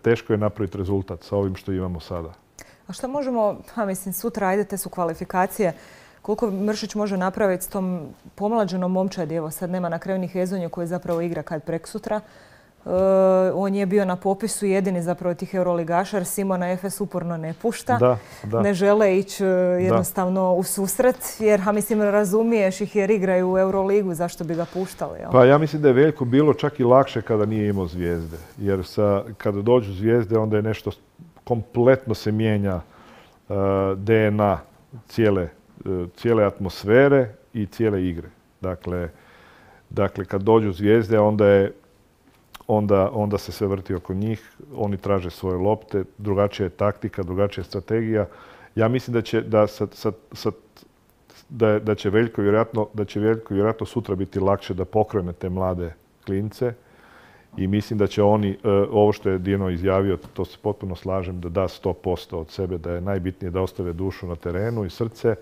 teško je napraviti rezultat sa ovim što imamo sada. A što možemo, sutra, ajde, te su kvalifikacije, koliko Mršić može napraviti s tom pomlađenom momčadi? Evo sad nema na kraju ni Hezonju koji zapravo igra kad preksutra. On je bio na popisu jedini zapravo tih euroligaša, jer Simona Efes uporno ne pušta. Ne žele ići jednostavno u susret, jer razumiješ ih jer igraju u Euroligu, zašto bi ga puštali? Pa ja mislim da je Veljko bilo čak i lakše kada nije imao zvijezde. Jer kada dođu zvijezde onda je nešto kompletno se mijenja DNA cijele atmosfere i cijele igre. Dakle, kad dođu zvijezde onda se sve vrti oko njih, oni traže svoje lopte, drugačija je taktika, drugačija je strategija. Ja mislim da će Veljko vjerojatno sutra biti lakše da pokrene te mlade klince i mislim da će oni, ovo što je Dino izjavio, to se potpuno slažem, da da 100% od sebe, da je najbitnije da ostave dušu na terenu i srce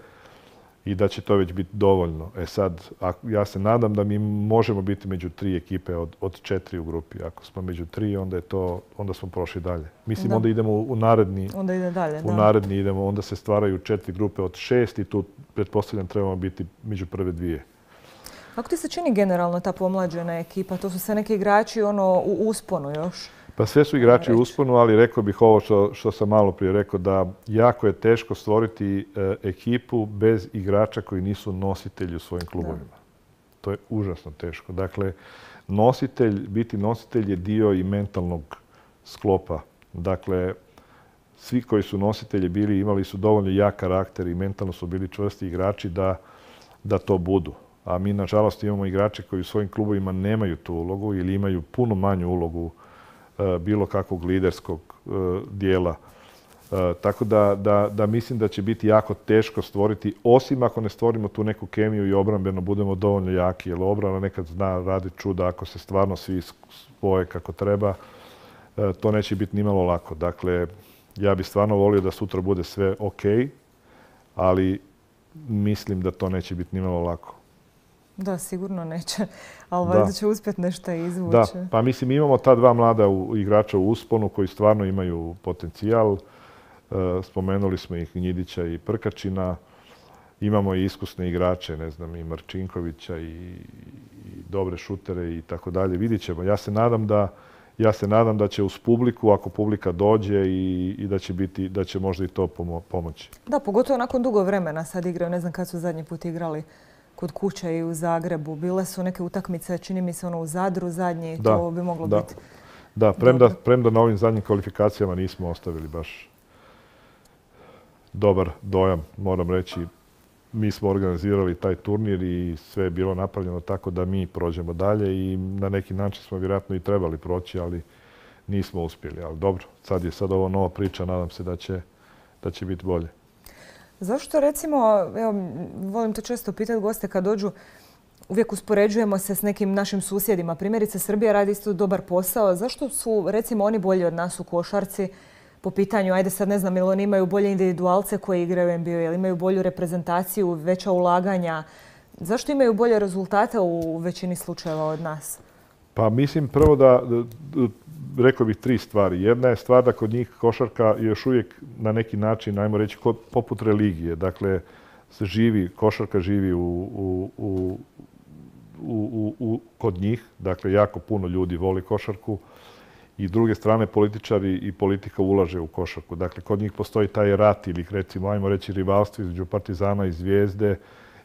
i da će to već biti dovoljno. Sad, ja se nadam da mi možemo biti među 3 ekipe od 4 u grupi. Ako smo među 3, onda smo prošli dalje. Mislim, onda idemo u naredni. Onda ide dalje, u naredni idemo, onda se stvaraju 4 grupe od 6 i tu, pretpostavljam, trebamo biti među prve 2. Kako ti se čini generalno ta pomlađena ekipa? To su sve neki igrači u usponu još. Pa sve su igrači u usponu, ali rekao bih ovo što sam malo prije rekao, da jako je teško stvoriti ekipu bez igrača koji nisu nositelji u svojim klubovima. To je užasno teško. Dakle, biti nositelj je dio i mentalnog sklopa. Dakle, svi koji su nositelji bili, imali su dovoljno jak karakter i mentalno su bili čvrsti igrači da to budu. a mi nažalost imamo igrače koji u svojim klubovima nemaju tu ulogu ili imaju puno manju ulogu bilo kakvog liderskog dijela. Tako da mislim da će biti jako teško stvoriti, osim ako ne stvorimo tu neku kemiju i obrambeno budemo dovoljno jaki, jer obrana nekad zna raditi čuda ako se stvarno svi spoje kako treba. To neće biti nimalo lako. Dakle, ja bih stvarno volio da sutra bude sve ok, ali mislim da to neće biti nimalo lako. Da, sigurno neće, ali valjda će uspjeti nešto izvući. Da, pa mislim imamo ta dva mlada igrača u usponu koji stvarno imaju potencijal. Spomenuli smo ih Njidića i Prkačina. Imamo i iskusne igrače, ne znam, i Marčinkovića i dobre šutere i tako dalje. Vidit ćemo. Ja se nadam da će uz publiku, ako publika dođe i da će možda i to pomoći. Da, pogotovo nakon dugo vremena sad igraju. Ne znam kad su zadnji put igrali kod kuće i u Zagrebu. Bile su neke utakmice, čini mi se u Zadru zadnji, to bi moglo biti. Da, premda na ovim zadnjim kvalifikacijama nismo ostavili baš dobar dojam, moram reći. Mi smo organizirali taj turnir i sve je bilo napravljeno tako da mi prođemo dalje i na neki način smo vjerojatno i trebali proći, ali nismo uspjeli. Ali dobro, sad ovo nova priča, nadam se da će biti bolje. Zašto recimo, evo, volim to često pitati goste kad dođu, uvijek uspoređujemo se s nekim našim susjedima. Primjerice, Srbija radi isto dobar posao. Zašto su recimo oni bolji od nas u košarci? Po pitanju, ajde sad ne znam, ili oni imaju bolje individualce koji igraju u NBA, ili imaju bolju reprezentaciju, veća ulaganja. Zašto imaju bolje rezultate u većini slučajeva od nas? Pa mislim prvo da, rekao bih 3 stvari. Jedna je stvar da kod njih košarka je još uvijek na neki način, ajmo reći, poput religije. Dakle, košarka živi kod njih. Dakle, jako puno ljudi voli košarku. I s druge strane, političari i politika ulaže u košarku. Dakle, kod njih postoji taj rat ili, recimo, ajmo reći, rivalstvo između Partizana i Zvijezde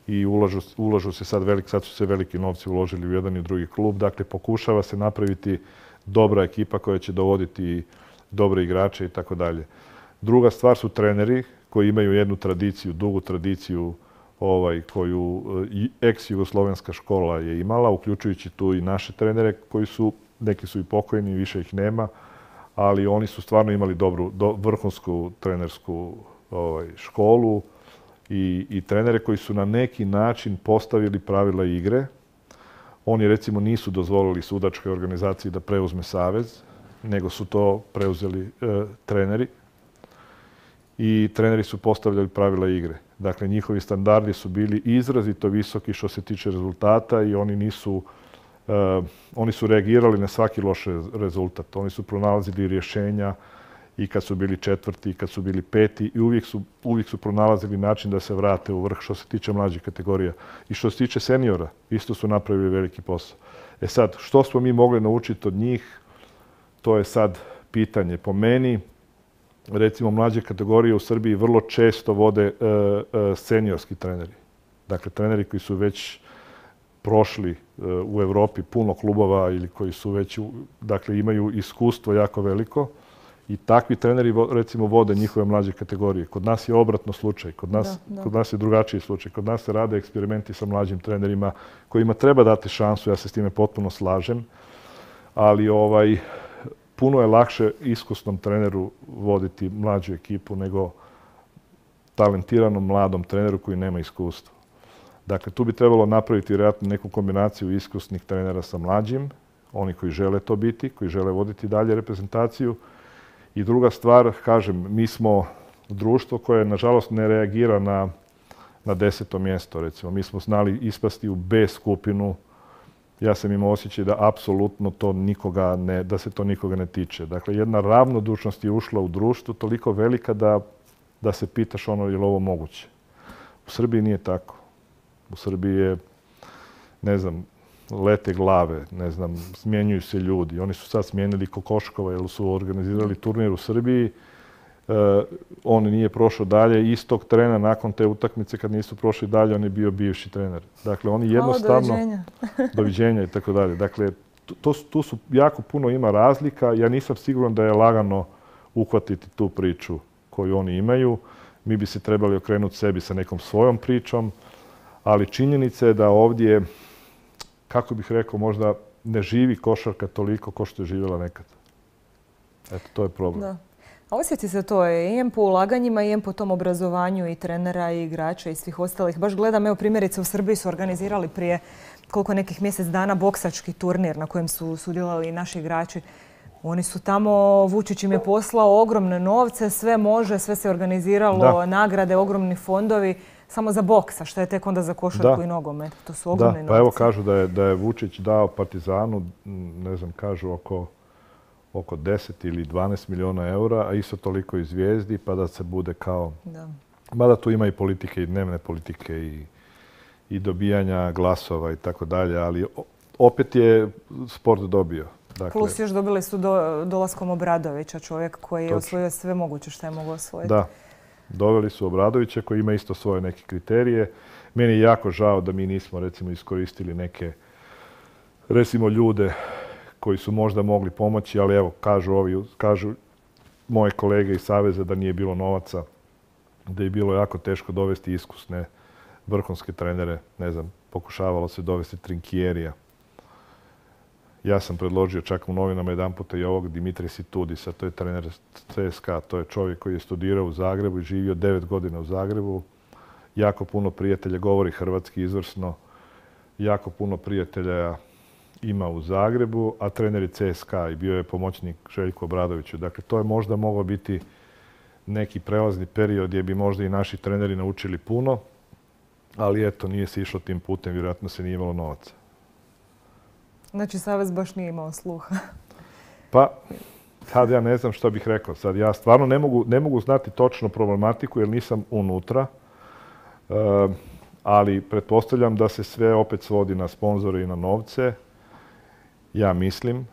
i ulažu se sad su se veliki novci uložili u jedan i drugi klub. Dakle, pokušava se napraviti dobra ekipa koja će dovoditi dobre igrače i tako dalje. Druga stvar su treneri koji imaju jednu tradiciju, dugu tradiciju koju ex-jugoslovenska škola je imala, uključujući tu i naše trenere koji su, neki su i pokojni, više ih nema, ali oni su stvarno imali dobru, vrhunsku trenersku školu i trenere koji su na neki način postavili pravila igre. Oni recimo nisu dozvolili sudačkoj organizaciji da preuzme savez, nego su to preuzeli treneri. I treneri su postavljali pravila igre. Dakle, njihovi standardi su bili izrazito visoki što se tiče rezultata i oni su reagirali na svaki loš rezultat. Oni su pronalazili rješenja i kad su bili 4. i kad su bili 5. i uvijek su pronalazili način da se vrate u vrh što se tiče mlađih kategorija. I što se tiče seniora, isto su napravili veliki posao. Sad, što smo mi mogli naučiti od njih, to je sad pitanje. Po meni, recimo, mlađe kategorije u Srbiji vrlo često vode seniorski treneri. Dakle, treneri koji su već prošli u Europi puno klubova ili koji su već, dakle, imaju iskustvo jako veliko i takvi treneri, recimo, vode njihove mlađe kategorije. Kod nas je obratno slučaj, kod nas je drugačiji slučaj. Kod nas se rade eksperimenti sa mlađim trenerima kojima treba dati šansu, ja se s time potpuno slažem, ali puno je lakše iskusnom treneru voditi mlađu ekipu nego talentiranom mladom treneru koji nema iskustva. Dakle, tu bi trebalo napraviti vjerojatno neku kombinaciju iskusnih trenera sa mlađim, oni koji žele to biti, koji žele voditi dalje reprezentaciju. I druga stvar, kažem, mi smo društvo koje, nažalost, ne reagira na 10. mjesto, recimo. Mi smo znali ispasti u B skupinu. Ja sam imao osjećaj da apsolutno da se to nikoga ne tiče. Dakle, jedna ravnodušnost je ušla u društvo toliko velika da se pitaš je li ovo moguće. U Srbiji nije tako. U Srbiji je, ne znam, lete glave, ne znam, smjenjuju se ljudi. Oni su sad smijenili Kokoškova jer su organizirali turnir u Srbiji. On nije prošao dalje. Istog trena nakon te utakmice kad nisu prošli dalje, on je bio bivši trener. Dakle, oni jednostavno... Doviđenja i tako dalje. Dakle, tu su jako puno ima razlika. Ja nisam siguran da je lagano uhvatiti tu priču koju oni imaju. Mi bi se trebali okrenuti sebi sa nekom svojom pričom, Ali činjenica je da ovdje, kako bih rekao, možda ne živi košarka toliko kao što je živjela nekad. Eto, to je problem. Da. A osjeti se to i po ulaganjima i po tom obrazovanju i trenera i igrača i svih ostalih. Baš gledam, evo primjerice u Srbiji su organizirali prije koliko nekih mjesec dana boksački turnir na kojem su sudjelovali i naši igrači. Oni su tamo, Vučić im je poslao ogromne novce, sve može, sve se organiziralo, nagrade, ogromni fondovi, samo za boks, a što je tek onda za košarku i nogomet. To su ogromni novci. Pa evo kažu da je Vučić dao Partizanu, ne znam, kažu oko 10 ili 12 milijuna eura, a isto toliko i Zvijezdi, pa da se bude kao... Mada tu ima i politike, i dnevne politike, i dobijanja glasova i tako dalje, ali opet je sport dobio. Dakle, plus još dobili su dolaskom Obradovića, čovjek koji je osvojio sve moguće što je mogao osvojiti. Da, doveli su Obradovića koji ima isto svoje neke kriterije. Meni je jako žao da mi nismo recimo iskoristili neke recimo ljude koji su možda mogli pomoći, ali evo, kažu moje kolege iz Saveza da nije bilo novaca, da je bilo jako teško dovesti iskusne vrhunske trenere. Ne znam, pokušavalo se dovesti Trinkierija. Ja sam predložio čak u novinama jedan puta i ovog Dimitrija Situdisa, to je trener CSKA, to je čovjek koji je studirao u Zagrebu i živio 9 godina u Zagrebu. Jako puno prijatelja, govori hrvatski izvrsno, jako puno prijatelja ima u Zagrebu, a trener je CSKA i bio je pomoćnik Željku Obradoviću. Dakle, to je možda moglo biti neki prelazni period gdje bi možda i naši treneri naučili puno, ali eto, nije se išlo tim putem, vjerojatno se nije imalo novaca. Znači, Savez baš nije imao sluha. Pa, sad ja ne znam što bih rekao. Sad ja stvarno ne mogu znati točno problematiku jer nisam unutra, ali pretpostavljam da se sve opet svodi na sponzore i na novce. Ja mislim,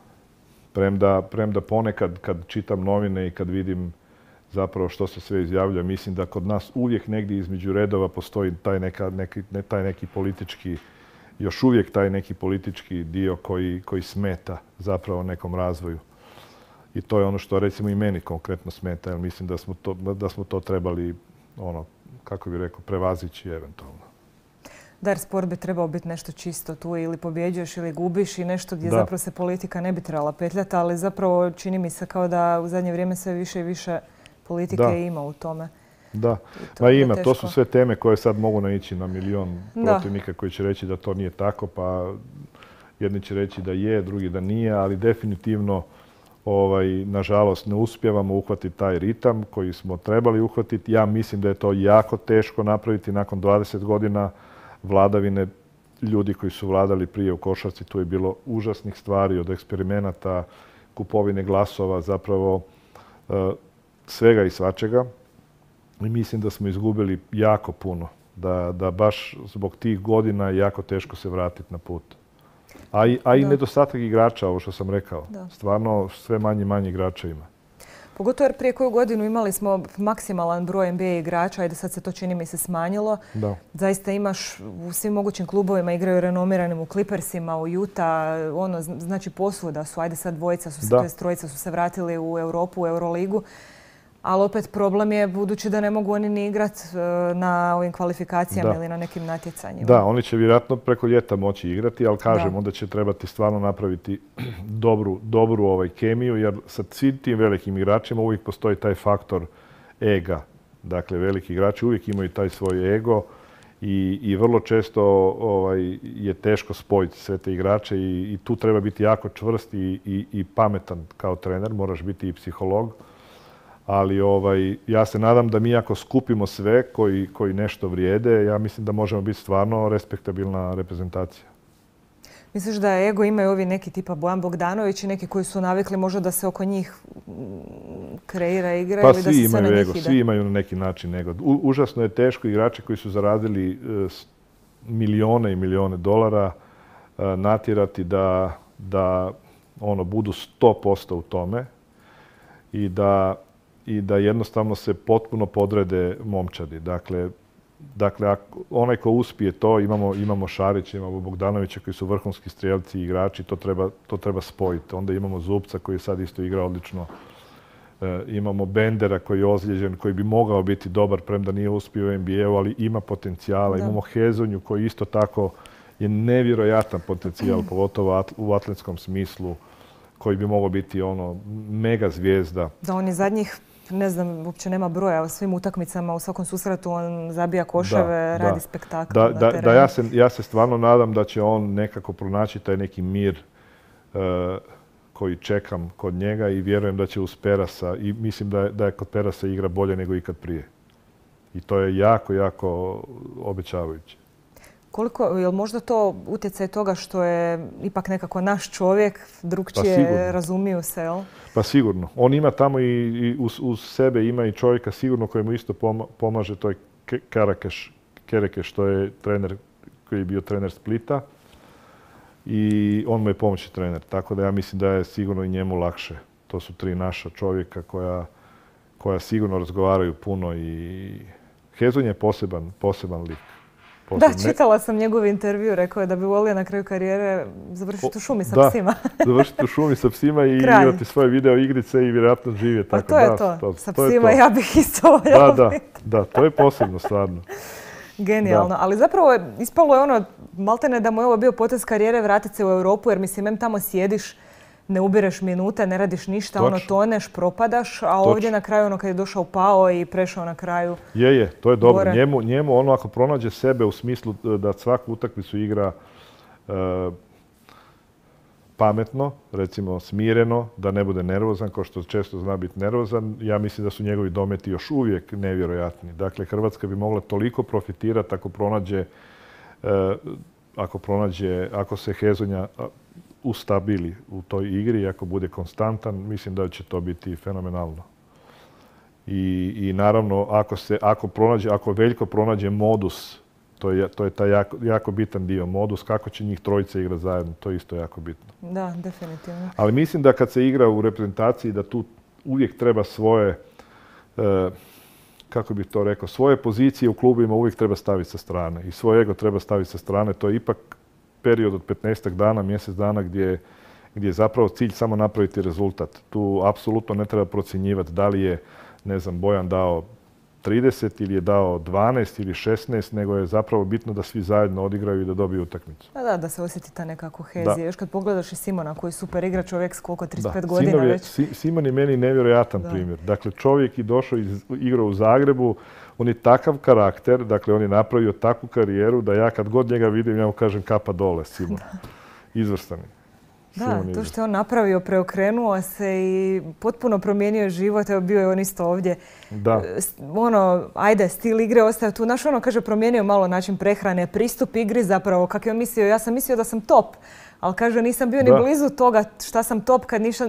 premda ponekad kad čitam novine i kad vidim zapravo što se sve izjavlja, mislim da kod nas uvijek negdje između redova postoji taj neki politički, još uvijek taj neki politički dio koji smeta zapravo nekom razvoju. I to je ono što recimo i meni konkretno smeta, jer mislim da smo to trebali, kako bih rekao, prevazići eventualno. Da, jer sport bi trebao biti nešto čisto tu, ili pobjeđuješ ili gubiš i nešto gdje zapravo se politika ne bi trebala petljati, ali zapravo čini mi se kao da u zadnje vrijeme sve više i više politike ima u tome. Da, ima. To su sve teme koje sad mogu naići na milion protivnika koji će reći da to nije tako, pa jedni će reći da je, drugi da nije, ali definitivno nažalost ne uspijevamo uhvatiti taj ritam koji smo trebali uhvatiti. Ja mislim da je to jako teško napraviti nakon 20 godina vladavine ljudi koji su vladali prije u košarci. Tu je bilo užasnih stvari, od eksperimenata, kupovine glasova, zapravo svega i svačega. I mislim da smo izgubili jako puno. Da baš zbog tih godina je jako teško se vratiti na put. A i nedostatak igrača, ovo što sam rekao. Stvarno sve manje igrača ima. Pogotovo jer prije koju godinu imali smo maksimalan broj NBA igrača, ajde sad se to čini mi se smanjilo. Zaista imaš u svim mogućim klubovima, igraju renomiranim u Clippersima, u Utah, znači posvuda su, ajde sad trojica su se vratili u Europu, u Euroligu. Ali opet problem je budući da ne mogu oni ni igrati na ovim kvalifikacijama ili na nekim natjecanjima. Da, oni će vjerojatno preko ljeta moći igrati, ali kažem, onda će trebati stvarno napraviti dobru kemiju, jer sa svim tim velikim igračima uvijek postoji taj faktor ega. Dakle, veliki igrači uvijek imaju taj svoj ego i vrlo često je teško spojiti sve te igrače i tu treba biti jako čvrst i pametan kao trener, moraš biti i psiholog. Ali ja se nadam da mi ako skupimo sve koji nešto vrijede, ja mislim da možemo biti stvarno respektabilna reprezentacija. Misliš da ego imaju ovi neki tipa Bojan Bogdanović i neki koji su navikli možda da se oko njih kreira igra ili da se sve na njih ide? Svi imaju na neki način ego. Užasno je teško igrače koji su zaradili milijone i milijone dolara natjerati da budu 100% u tome i da jednostavno se potpuno podrede momčadi. Dakle, onaj ko uspije to, imamo Šarića, imamo Bogdanovića koji su vrhunski strijelci i igrači, to treba spojiti. Onda imamo Zubca koji sad isto igra odlično. Imamo Bendera koji je ozlijeđen, koji bi mogao biti dobar, premda nije uspio u NBA-u, ali ima potencijala. Imamo Hezonju koji isto tako je nevjerojatan potencijal, pogotovo u atletskom smislu, koji bi mogao biti mega zvijezda. Da, on je zadnjih, ne znam, uopće nema broja u svim utakmicama, u svakom susretu on zabija koševe, radi spektakl na terenu. Ja se stvarno nadam da će on nekako pronaći taj neki mir koji čekam kod njega i vjerujem da će uz Perasa, i mislim da je kod Perasa igra bolje nego ikad prije. I to je jako, jako obećavajuće. Je li možda to utjecaj toga što je ipak nekako naš čovjek, drugčije razumiju se, jel? Pa sigurno. On ima tamo i uz sebe ima i čovjeka sigurno koji mu isto pomaže, to je Kerekeš, što je trener koji je bio trener Splita. I on mu je pomoćni trener. Tako da ja mislim da je sigurno i njemu lakše. To su 3 naša čovjeka koja sigurno razgovaraju puno i Hezonja je poseban lik. Da, čitala sam njegov intervju, rekao je da bi volio na kraju karijere završiti u šumi sa psima. Da, završiti u šumi sa psima i igrati svoje video igrice i vjerojatno živjeti. Pa to je to. Sa psima ja bih isto voljela biti. Da, to je posebno stvarno. Genijalno, ali zapravo ispalo je maltene da mu je ovo bio potez karijere vratiti se u Europu, jer mislim, tamo sjediš, ne ubireš minute, ne radiš ništa, toneš, propadaš, a ovdje na kraju kad je došao pao i prešao na kraju. Je, to je dobro. Njemu ako pronađe sebe u smislu da svaku utakmicu igra pametno, recimo smireno, da ne bude nervozan, kao što često zna biti nervozan, ja mislim da su njegovi dometi još uvijek nevjerojatni. Dakle, Hrvatska bi mogla toliko profitirati ako se Hezonja ustabili u toj igri i ako bude konstantan, mislim da će to biti fenomenalno. I naravno, ako Veljko pronađe modus, to je taj jako bitan dio, modus, kako će njih trojice igrati zajedno, to je isto jako bitno. Da, definitivno. Ali mislim da kad se igra u reprezentaciji, da tu uvijek treba svoje, kako bih to rekao, svoje pozicije u klubima uvijek treba staviti sa strane i svoj ego treba staviti sa strane. To je ipak period od 15 dana, mjesec dana gdje je zapravo cilj samo napraviti rezultat. Tu apsolutno ne treba procjenjivati da li je, ne znam, Bojan dao 30 ili je dao 12 ili 16, nego je zapravo bitno da svi zajedno odigraju i da dobiju utakmicu. Da se osjeti ta neka kohezija. Još kad pogledaš i Simona koji je super igra, čovjek s koliko, 35 godina već. Simon je meni nevjerojatan primjer. Dakle, čovjek je došao igrao u Zagrebu, on je takav karakter, dakle on je napravio takvu karijeru da ja kad god njega vidim, ja mu kažem kapa dole, Simon. Izvrstan. Da, to što je on napravio, preokrenuo se i potpuno promijenio život. Evo, bio je on isto ovdje. Da. Stil igre ostaje tu. Kaže, promijenio malo način prehrane, pristup igri zapravo. Kako je on mislio, ja sam mislio da sam top. Ali kaže, nisam bio ni blizu toga šta sam top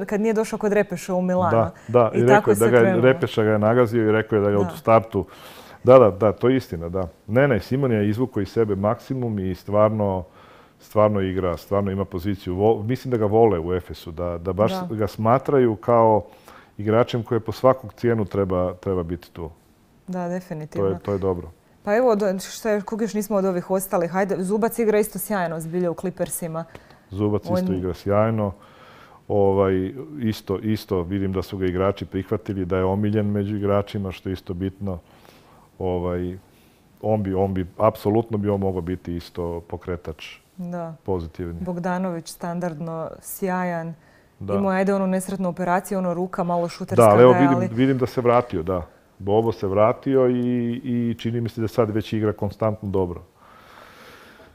kad nije došao kod Repeša u Milano. Da, i rekao je da Repeša ga je nagazio i rekao je da ga u startu... Da, to je istina, da. Ne, Simon je izvukao iz sebe maksimum i stvarno igra, stvarno ima poziciju. Mislim da ga vole u Efesu, da baš ga smatraju kao igračem koji po svakog cijenu treba biti tu. Da, definitivno. To je dobro. Pa evo, kog još nismo od ovih ostalih. Hajde, Zubac igra isto sjajno zbilja u Clippersima. Zubac isto igra sjajno. Isto vidim da su ga igrači prihvatili, da je omiljen među igračima, što je isto bitno. Apsolutno bi on mogao biti isto pokretač. Da. Pozitivni. Bogdanović standardno sjajan. Imao je onu nesretnu operaciju, ruka malo šuterska. Da, ali evo vidim da se vratio, da. Bobo se vratio i čini mi se da sad već igra konstantno dobro.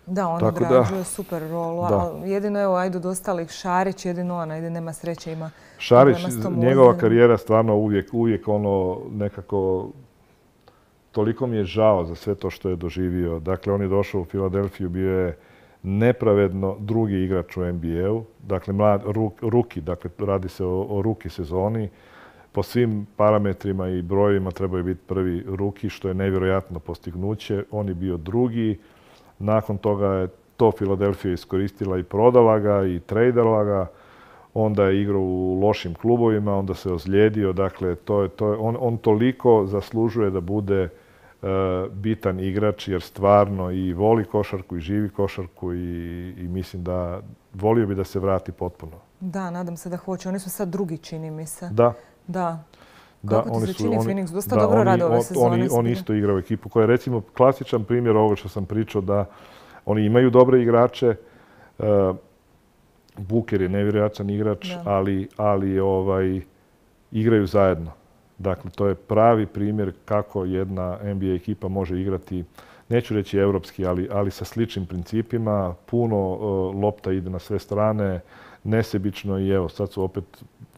Da, on odrađuje super rolu. Jedino evo, od ostalih Šarić, jedino nema sreće, ima. Šarić, njegova karijera stvarno uvijek nekako... Toliko mi je žao za sve to što je doživio. Dakle, on je došao u Filadelfiju, bio je nepravedno drugi igrač u NBA-u. Dakle, ruki, dakle, radi se o ruki sezoni. Po svim parametrima i brojevima trebaju biti prvi ruki, što je nevjerojatno postignuće. On je bio drugi. Nakon toga je to Filadelfija iskoristila i prodala ga i trejdala ga. Onda je igrao u lošim klubovima, onda se ozlijedio. Dakle, on toliko zaslužuje da bude bitan igrač jer stvarno i voli košarku i živi košarku i mislim da volio bi da se vrati potpuno. Da, nadam se da hoće. Oni su sad drugi, čini mi se. Da. Kako ti se čini Phoenix? Dosta dobro rade ove sezone. Oni isto igraju ekipu koja je recimo klasičan primjer ovoga što sam pričao da oni imaju dobre igrače. Booker je nevjerojatan igrač, ali igraju zajedno. Dakle, to je pravi primjer kako jedna NBA ekipa može igrati, neću reći europski, ali sa sličnim principima. Puno lopta ide na sve strane, nesebično i evo, sad su opet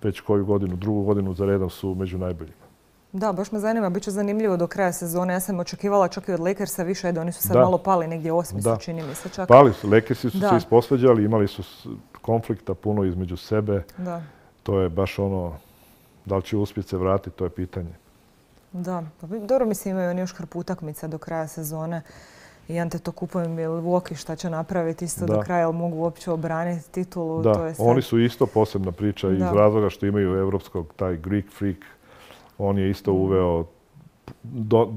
već koju godinu, drugu godinu za redom su među najboljima. Da, baš me zanima, bit će zanimljivo do kraja sezone. Ja sam očekivala čak i od Lakersa više, da oni su sad malo pali, negdje 8. su, čini mi se čak. Pali su, Lakersi su se isposvađali, imali su konflikta puno između sebe. Da. To je baš ono, da li će uspjeti se vratiti, to je pitanje. Da, pa dobro, mislim imaju oni još hrpu utakmica do kraja sezone. I Antetokounmpo i Milwaukee šta će napraviti isto do kraja, ali mogu uopće obraniti titulu. Da, to je sad... oni su isto posebna priča iz razloga što imaju evropskog, taj Greek freak. On je isto uveo,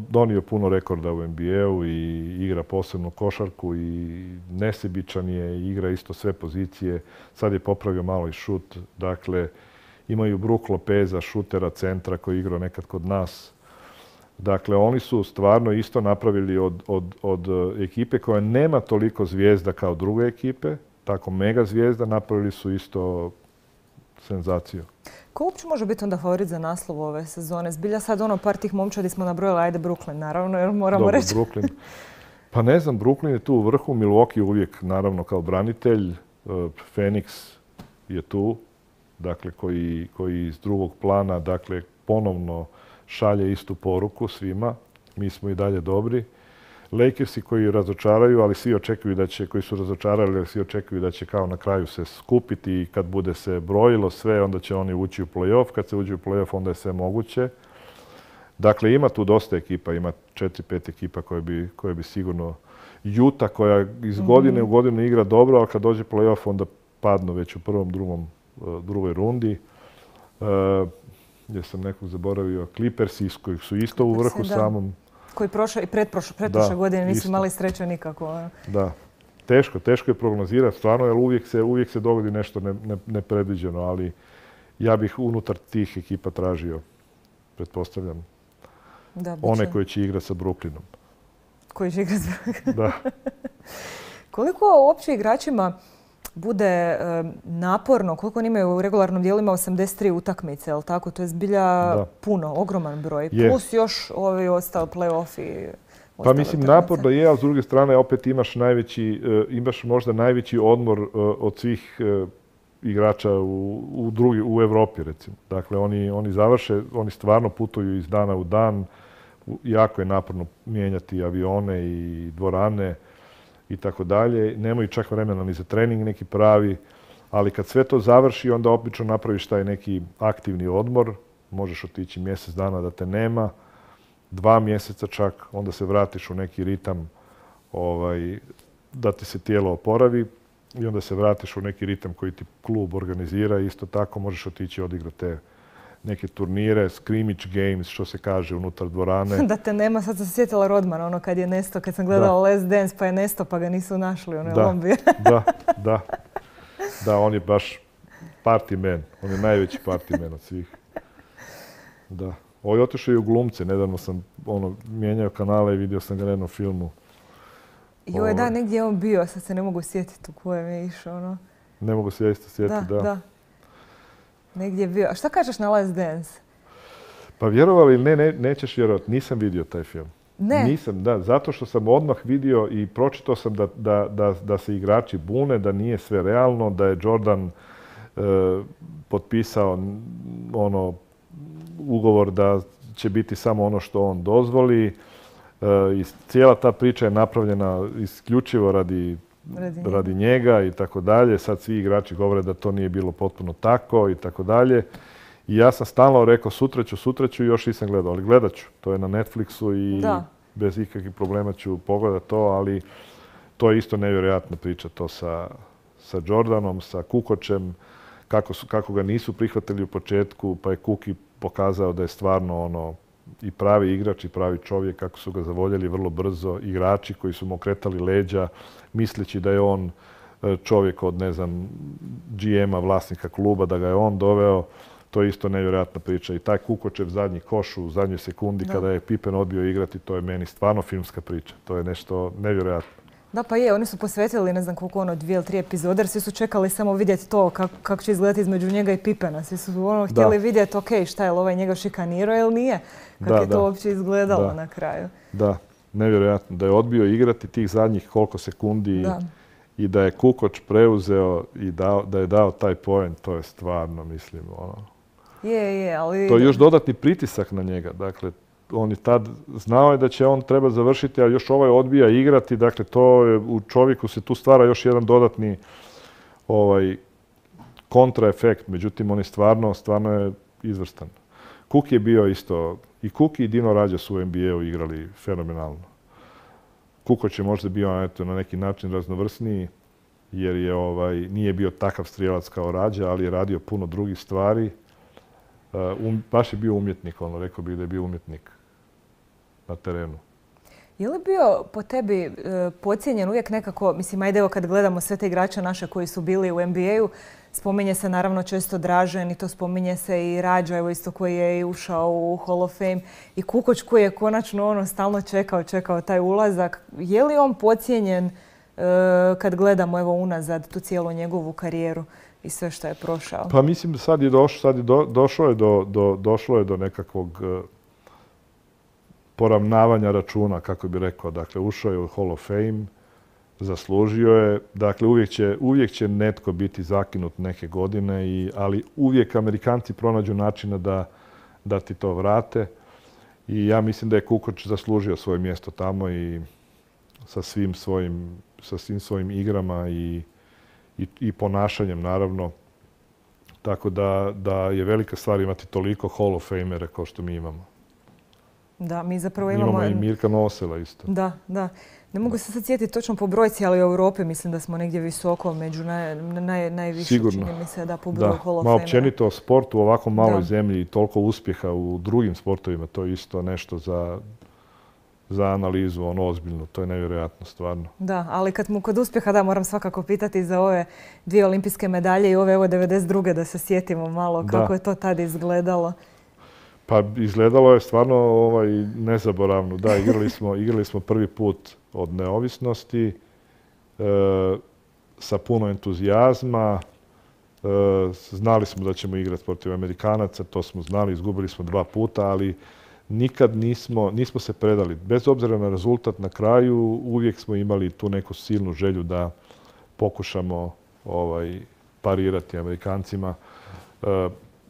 donio puno rekorda u NBA-u i igra posebno košarku i nesebičan je, igra isto sve pozicije. Sad je popravio malo i šut. Dakle, imaju Brook Lopeza, šutera, centra koji je igrao nekad kod nas. Dakle, oni su stvarno isto napravili od ekipe koja nema toliko zvijezda kao druge ekipe, tako mega zvijezda, napravili su isto senzaciju. Ko uopće može biti onda favorit za naslov ove sezone? Zbilja sad par tih momčadi smo nabrojali, ajde Brooklyn, naravno, jer moramo reći. Brooklyn. Pa ne znam, Brooklyn je tu u vrhu, Milwaukee uvijek naravno kao branitelj, Phoenix je tu, dakle koji iz drugog plana, dakle ponovno šalje istu poruku svima. Mi smo i dalje dobri. Lakersi koji razočaraju, ali svi očekuju da će, koji su razočarali, ali svi očekuju da će kao na kraju se skupiti i kad bude se brojilo sve, onda će oni ući u play-off. Kad se uđe u play-off, onda je sve moguće. Dakle, ima tu dosta ekipa, ima 4-5 ekipa koje bi sigurno... Utah koja iz godine u godinu igra dobro, ali kad dođe play-off, onda padnu već u prvom, drugoj rundi. Gdje sam nekog zaboravio, Clippersi koji su isto u vrhu samom. Koji prošle i pretprošle godine nisu imali sreće nikako. Da. Teško je prognozirati stvarno, jer uvijek se dogodi nešto nepredviđeno, ali ja bih unutar tih ekipa tražio, pretpostavljam, one koje će igrati sa Brooklynom. Koji će igrati sa Brooklynom? Da. Koliko uopće igračima bude naporno, koliko oni imaju u regularnom dijelu, ima 83 utakmice, je li tako? To je zbilja puno, ogroman broj. Plus još ovi ostali play-offi. Pa mislim, naporno je, a s druge strane opet imaš možda najveći odmor od svih igrača u Europi, recimo. Dakle, oni završe, oni stvarno putuju iz dana u dan. Jako je naporno mijenjati avione i dvorane i tako dalje. Nemaju čak vremena ni za trening neki pravi, ali kad sve to završi, onda obično napraviš taj neki aktivni odmor. Možeš otići mjesec dana da te nema, 2 mjeseca čak, onda se vratiš u neki ritam da ti se tijelo oporavi i onda se vratiš u neki ritam koji ti klub organizira. Isto tako možeš otići odigrati te neke turnire, scrimmage games, što se kaže, unutar dvorane. Da te nema, sad sam se sjetila Rodmana, ono kad je nesto, kad sam gledala Last Dance, pa je nesto, pa ga nisu našli, ono je lombi. Da, on je baš party man, on je najveći party man od svih. Da. Ovo je otišao i u glumce, nedavno sam mijenjao kanale i vidio sam ga na jednom filmu. Joj, da, negdje je on bio, sad se ne mogu sjetiti u kojem je išao, Ne mogu se sjetiti, da. Negdje je bio. A šta kažeš na Last Dance? Pa vjerovali ili nećeš vjerovati, nisam vidio taj film. Ne? Nisam, da, zato što sam odmah vidio i pročitao sam da se igrači bune, da nije sve realno, da je Jordan potpisao ugovor da će biti samo ono što on dozvoli. I cijela ta priča je napravljena isključivo radi njega i tako dalje. Sad svi igrači govore da to nije bilo potpuno tako i tako dalje. I ja sam stalno rekao sutra ću i još nisam gledao, ali gledat ću. To je na Netflixu i bez ikakvih problema ću pogledati to, ali to je isto nevjerojatna priča to sa Jordanom, sa Kukočem, kako ga nisu prihvatili u početku, pa je Kuki pokazao da je stvarno i pravi igrač i pravi čovjek, kako su ga zavoljeli vrlo brzo, igrači koji su mu okretali leđa, misleći da je on čovjek od, ne znam, GM-a, vlasnika kluba, da ga je on doveo. to je isto nevjerojatna priča. I taj Kukočev zadnji koš u zadnjoj sekundi kada je Pippen odbio igrati, to je meni stvarno filmska priča. To je nešto nevjerojatno. Da, pa je, oni su posvetili, ne znam koliko 2 ili 3 epizode, jer svi su čekali samo vidjeti to kako će izgledati između njega i Pippena. Svi su htjeli vidjeti, ok, šta je li ovaj njega šikanirao ili nije, kako je to uopće izgledalo na kraju. Da, nevjerojatno. Da je odbio igrati tih zadnjih koliko sekundi i da je Kukoč preuzeo i da je dao taj poen, to je stvarno, mislim, ali... To je još dodatni pritisak na njega, dakle, on je tad znao je da će on treba završiti, a još ovaj odbija igrati. Dakle, to je, u čovjeku se tu stvara još jedan dodatni kontraefekt. Međutim, on je stvarno je izvrstan. Cook je bio isto, i Cook i Dino Radja su u NBA-u igrali fenomenalno. Kukoč je možda bio na neki način raznovrsniji, jer nije bio takav strijelac kao Radja, ali je radio puno drugih stvari. Baš je bio umjetnik, rekao bih da je bio umjetnik na terenu. Je li bio po tebi podcijenjen uvijek nekako, mislim, ajde evo kad gledamo sve te igrače naše koji su bili u NBA-u, spominje se naravno često Dražen i to spominje se i Radja, evo isto koji je ušao u Hall of Fame, i Kukoč koji je konačno stalno čekao taj ulazak. Je li on podcijenjen kad gledamo evo unazad tu cijelu njegovu karijeru i sve što je prošao? Pa mislim da došlo je do nekakvog poravnavanja računa, kako bi rekao. Dakle, ušao je u Hall of Fame, zaslužio je. Dakle, uvijek će netko biti zakinut neke godine, ali uvijek Amerikanci pronađu načina da ti to vrate. I ja mislim da je Kukoč zaslužio svoje mjesto tamo i sa svim svojim igrama i ponašanjem, naravno. Tako da je velika stvar imati toliko Hall of Famere kao što mi imamo. Da, mi zapravo imamo... Imamo i Mirka Nosela isto. Da. Ne mogu se sad sjetiti točno po brojci, ali u Europi mislim da smo negdje visoko među najviše, čini mi se, po broju Hall of Famera. Općenito sport u ovako maloj zemlji i toliko uspjeha u drugim sportovima, to je isto nešto za analizu, ozbiljno. To je nevjerojatno, stvarno. Da, ali kod uspjeha, moram svakako pitati za ove 2 olimpijske medalje i ove 92. da se sjetimo malo kako je to tad izgledalo. Pa izgledalo je stvarno nezaboravno. Da, igrali smo prvi put od neovisnosti sa puno entuzijazma. Znali smo da ćemo igrati protiv Amerikanaca, to smo znali, izgubili smo 2 puta, ali nikad nismo se predali. Bez obzira na rezultat na kraju, uvijek smo imali tu neku silnu želju da pokušamo parirati Amerikancima.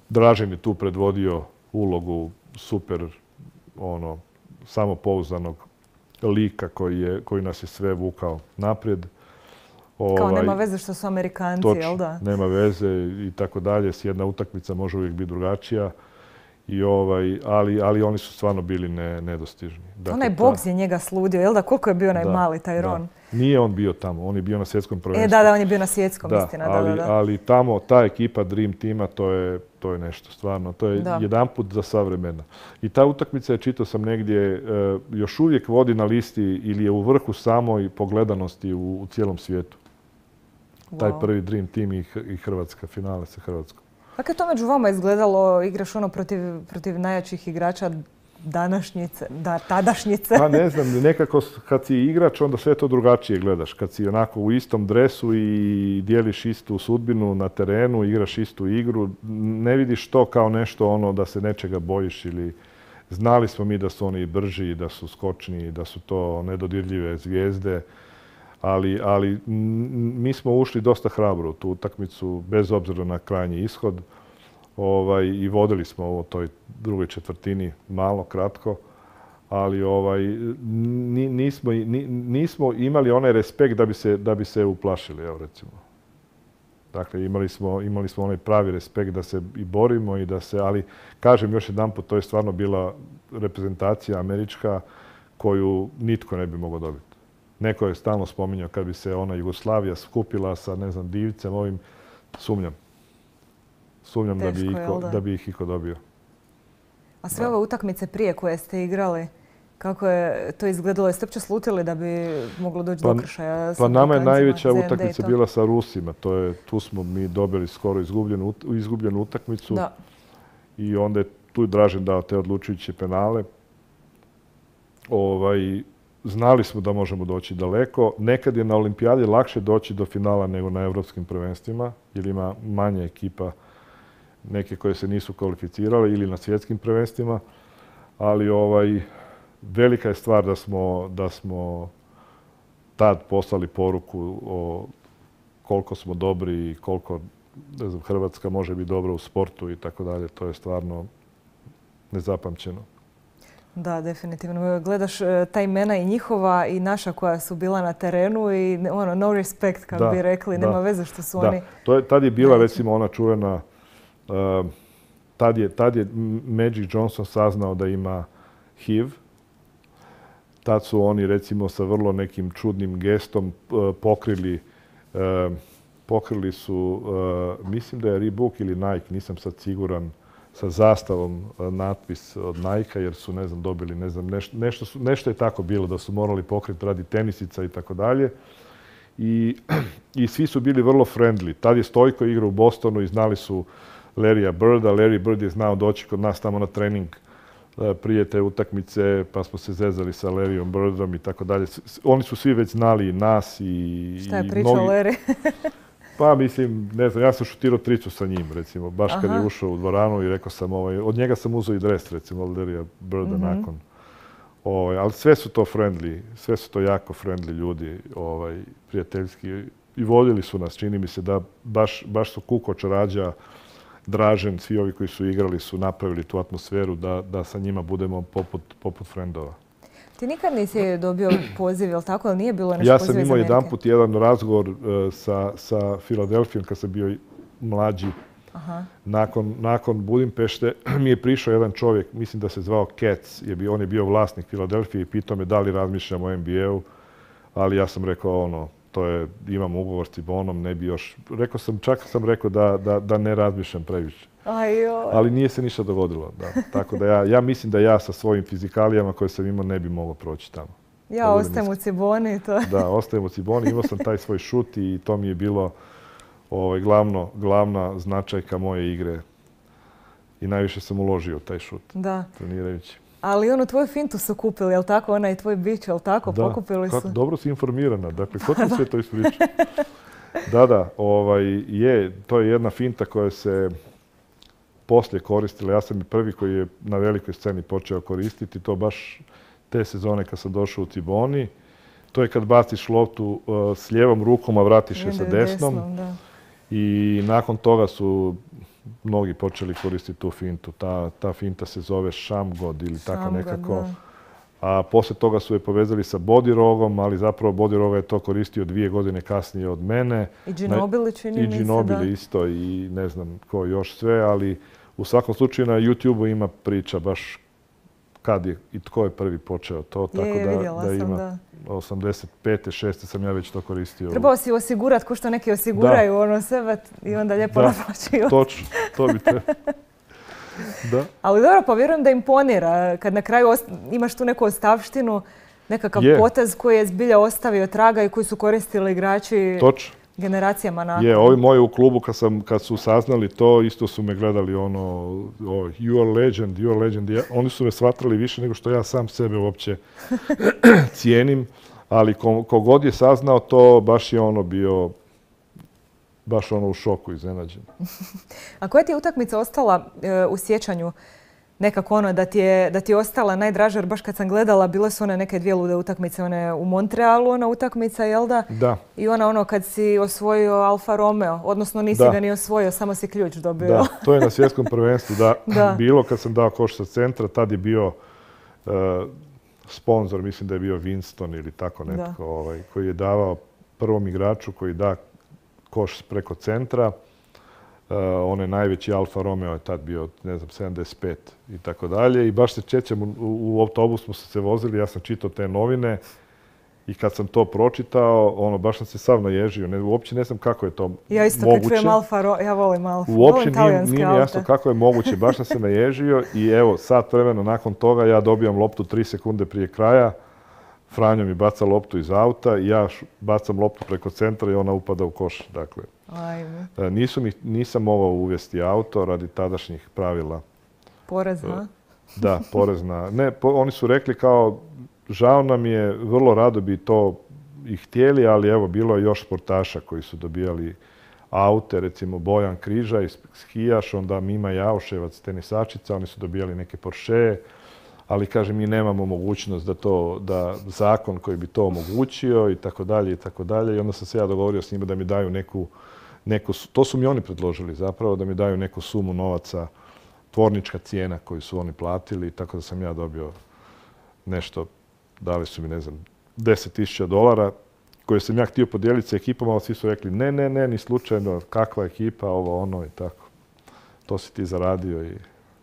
Dražen je tu predvodio ulogu super samopouzdanog lika koji nas je sve vukao naprijed. Kao nema veze što su Amerikanci, jel da? Nema veze i tako dalje. Jedna utakmica može uvijek biti drugačija. Ali oni su stvarno bili nedostižni. Dakle, onaj boks je njega sludio, jel da? Koliko je bio onaj mali taj Ron? Nije on bio tamo, on je bio na svjetskom prvenstvu. Da, on je bio na svjetskom, istina. Ali tamo, ta ekipa Dream Teama, to je nešto stvarno. To je jedanput za sva vremena. I ta utakmica je, čitao sam negdje, još uvijek vodi na listi ili je u vrhu samoj pogledanosti u cijelom svijetu. Taj prvi Dream Team i Hrvatska, finale sa Hrvatskom. Kako je to među vama izgledalo? Igraš protiv najjačih igrača tadašnjice? Pa ne znam, nekako kad si igrač onda sve to drugačije gledaš. Kad si onako u istom dresu i dijeliš istu sudbinu na terenu, igraš istu igru, ne vidiš to kao nešto da se nečega bojiš ili... Znali smo mi da su oni brži, da su skočni, da su to nedodirljive zvijezde. Ali mi smo ušli dosta hrabro u tu utakmicu, bez obzira na krajnji ishod. I vodili smo u toj drugoj četvrtini malo, kratko. Ali nismo imali onaj respekt da bi se uplašili, evo recimo. Dakle, imali smo onaj pravi respekt da se i borimo i da se, ali kažem još jedanput, to je stvarno bila reprezentacija američka koju nitko ne bi mogao dobiti. Neko je stalno spominjao kad bi se ona Jugoslavija skupila sa, ne znam, Divicem, ovim, sumnjam. Sumnjam da bi ih iko dobio. A sve ove utakmice prije koje ste igrali, kako je to izgledalo? Jeste uopće slutili da bi moglo doći do kršaja? Pa nama je najveća utakmica bila sa Rusima. Tu smo mi dobili skoro izgubljenu utakmicu. i onda je tu Dražen dao te odlučujuće penale. Znali smo da možemo doći daleko. Nekad je na olimpijadi lakše doći do finala nego na evropskim prvenstvima, jer ima manje ekipa, neke koje se nisu kvalificirale, ili na svjetskim prvenstvima. Ali velika je stvar da smo tad poslali poruku o koliko smo dobri i koliko Hrvatska može biti dobra u sportu i tako dalje. To je stvarno nezapamćeno. Da, definitivno. Gledaš ta imena i njihova i naša koja su bila na terenu i no respect, kako bi rekli. Nema veze što su oni... Tad je bila recimo ona čuvena... Tad je Magic Johnson saznao da ima HIV. Tad su oni recimo sa vrlo nekim čudnim gestom pokrili su, mislim da je Reebok ili Nike, nisam sad siguran, sa zastavom natpis od Nike-a jer su, dobili, nešto je tako bilo da su morali pokriti radi tenisica i tako dalje. I svi su bili vrlo friendly. Tad je Stojko igrao u Bostonu i znali su Larrya Birda. Larry Bird je znao doći kod nas tamo na trening prije te utakmice, pa smo se zezali sa Larryom Birdom i tako dalje. Oni su svi već znali nas i... Šta je pričao Larry? Pa mislim, ja sam šutirao tricu sa njim, recimo, baš kad je ušao u dvoranu i rekao sam, od njega sam uzeo i dres, recimo, od Larrya Birda nakon. Ali sve su to friendly, sve su to jako friendly ljudi, prijateljski. I voljeli su nas, čini mi se da baš su Kukoč, Rađa, Dražen, svi ovi koji su igrali su napravili tu atmosferu da sa njima budemo poput frendova. Ti nikad nisi dobio poziv, jel tako? Nije bilo nešto poziv iz Amerike? Ja sam imao jedanput jedan razgovor sa Filadelfijom kad sam bio mlađi. Nakon Budimpešte mi je prišao jedan čovjek, mislim da se zvao Katz, on je bio vlasnik Filadelfije i pitao me da li razmišljam o NBA-u, ali ja sam rekao imam ugovor s Cibonom, ne bi još... Čak sam rekao da ne razmišljam previše. Ali nije se ništa dogodilo. Tako da ja mislim da ja sa svojim fizikalijama koje sam imao ne bi mogao proći tamo. Ja ostajem u Ciboni. Da, ostajem u Ciboni. Imao sam taj svoj šut i to mi je bilo glavna značajka moje igre. I najviše sam uložio taj šut. Da. Trenirajući. Ali tvoju fintu su kupili, jel tako? Onaj tvoj bić, jel tako? Pokupili su. Dobro si informirana. Dakle, ko ti sve to ispriča? Da, to je jedna finta koja se poslije koristila. Ja sam i prvi koji je na velikoj sceni počeo koristiti. To baš te sezone kad sam došao u Ciboni. To je kad baciš loptu s lijevom rukom, a vratiš je sa desnom. I nakon toga su mnogi počeli koristiti tu fintu. Ta finta se zove Shamgod ili tako nekako. A poslije toga su je povezali sa Bodirogom, ali zapravo Bodiroga je to koristio 2 godine kasnije od mene. I Ginobili čini mi se, da. I Ginobili isto i ne znam ko još sve, ali u svakom slučaju na YouTube-u ima priča baš kad je i tko je prvi počeo to. Tako da ima 85. 6. sam ja već to koristio. Trebao si osigurati ko što neki osiguraju sebe i onda lijepo naplaćuju. Točno, to bi trebalo. Da. Ali dobro, pa vjerujem da imponira. Kad na kraju imaš tu neku ostavštinu, nekakav potez koji je zbilja ostavio traga i koji su koristili igrači generacijama nakon. Ovi moji u klubu kad su saznali to, isto su me gledali you are legend. Oni su me shvatili više nego što ja sam sebe uopće cijenim. Ali kogod je saznao to, baš je bio u šoku, iznenađen. A koja ti je utakmica ostala u sjećanju nekako da ti je ostala najdraža? Jer baš kad sam gledala, bile su one neke 2 lude utakmice. One u Montrealu, ona utakmica, jel da? Da. I kad si osvojio Alfa Romeo. Odnosno nisi ga ni osvojio, samo si ključ dobio. Da, to je na svjetskom prvenstvu. Bilo kad sam dao koš sa centra, tad je bio sponzor, mislim da je bio Winston ili tako netko, koji je davao prvom igraču koji da koš preko centra. Onaj najveći Alfa Romeo je tad bio, 75 i tako dalje. I baš se sjećam, u autobus smo se vozili, ja sam čitao te novine i kad sam to pročitao, baš sam se sav naježio. Uopće ne znam kako je to moguće. Ja isto kad čujem Alfa Romeo, ja volim Alfa. Uopće nije mi jasno kako je moguće, baš sam se naježio i evo, sat vremena nakon toga ja dobijam loptu 3 sekunde prije kraja. Franjo mi baca loptu iz auta i ja bacam loptu preko centra i ona upada u koš. Dakle, nisam mogao uvesti auto radi tadašnjih pravila Porez, ha? Da, porezna. Ne, oni su rekli kao, žao nam je, vrlo rado bi to i htjeli, ali evo, bilo je još sportaša koji su dobijali aute, recimo Bojan Križaj, skijaš, onda Mima Jauševac, tenisačica, oni su dobijali neke Porsche, ali kaže mi nemamo mogućnost da zakon koji bi to omogućio i tako dalje i tako dalje. I onda sam se ja dogovorio s njima da mi daju neku, to su mi oni predložili zapravo, da mi daju neku sumu novaca, tvornička cijena koju su oni platili, tako da sam ja dobio nešto, dali su mi, ne znam, $10,000, koje sam ja htio podijeliti sa ekipom, ali svi su rekli ne, ni slučajno, kakva ekipa, ovo, ono i tako. To si ti zaradio i...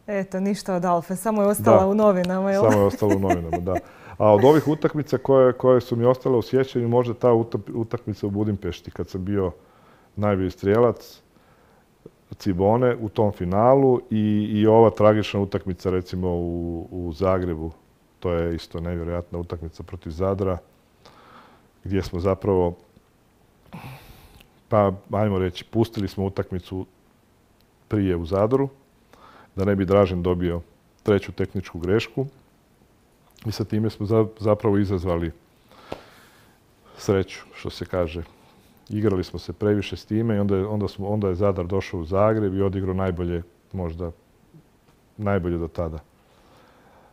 Eto, ništa od Alfe, samo je ostala u novinama, jel? Samo je ostala u novinama, da. A od ovih utakmica koje su mi ostale u sjećanju, možda ta utakmica u Budimpešti, kad sam bio najbolji strijelac Cibone u tom finalu i ova tragična utakmica, recimo, u Zagrebu. To je isto nevjerojatna utakmica protiv Zadra, gdje smo zapravo, pa ajmo reći, pustili smo utakmicu prije u Zadru, da ne bi Dražen dobio treću tehničku grešku. I sa time smo zapravo izazvali sreću, što se kaže. Igrali smo se previše s time i onda je Zadar došao u Zagreb i odigrao najbolje, možda najbolje do tada.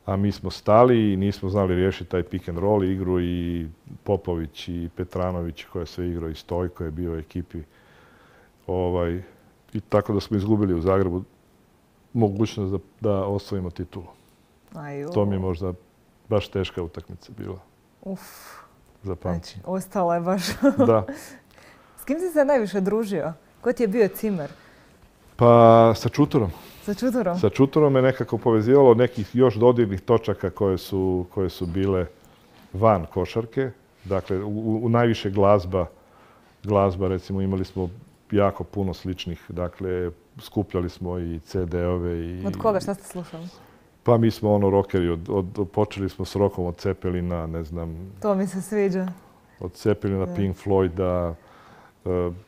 A mi smo stali i nismo znali riješiti taj pick and roll igru i Popović i Petranović koji je sve igrao i Stojko je bio u ekipi. I tako da smo izgubili u Zagrebu mogućnost da osvojimo titulu. To mi je možda baš teška utakmica bila. Znači, ostala je baš... Da. S kim si se najviše družio? Ko ti je bio cimer? Pa sa Čuturom. Sa Čuturom? Sa Čuturom me nekako povezivalo nekih još dodirnih točaka koje su bile van košarke. Dakle, u najviše glazba, recimo, imali smo jako puno sličnih. Dakle, skupljali smo i CD-ove. Od koga? Šta ste slušali? Pa mi smo rockeri. Počeli smo s rockom od Zeppelina, ne znam... To mi se sviđa. Od Zeppelina, Pink Floyda.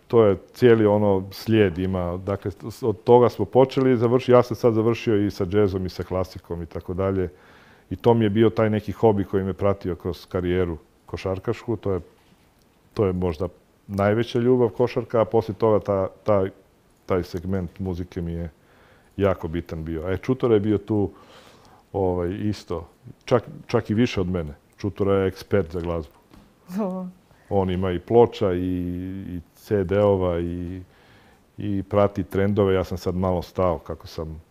To je cijeli slijed ima. Dakle, od toga smo počeli i završili. Ja sam sad završio i sa džezom i sa klasikom i tako dalje. I to mi je bio taj neki hobi koji me pratio kroz karijeru košarkašku. To je možda najveća ljubav košarka, a poslije toga taj segment muzike mi je jako bitan bio. A Čutura je bio tu isto, čak i više od mene. Čutura je ekspert za glazbu. On ima i ploča i CD-ova i prati trendove. Ja sam sad malo stao kako sam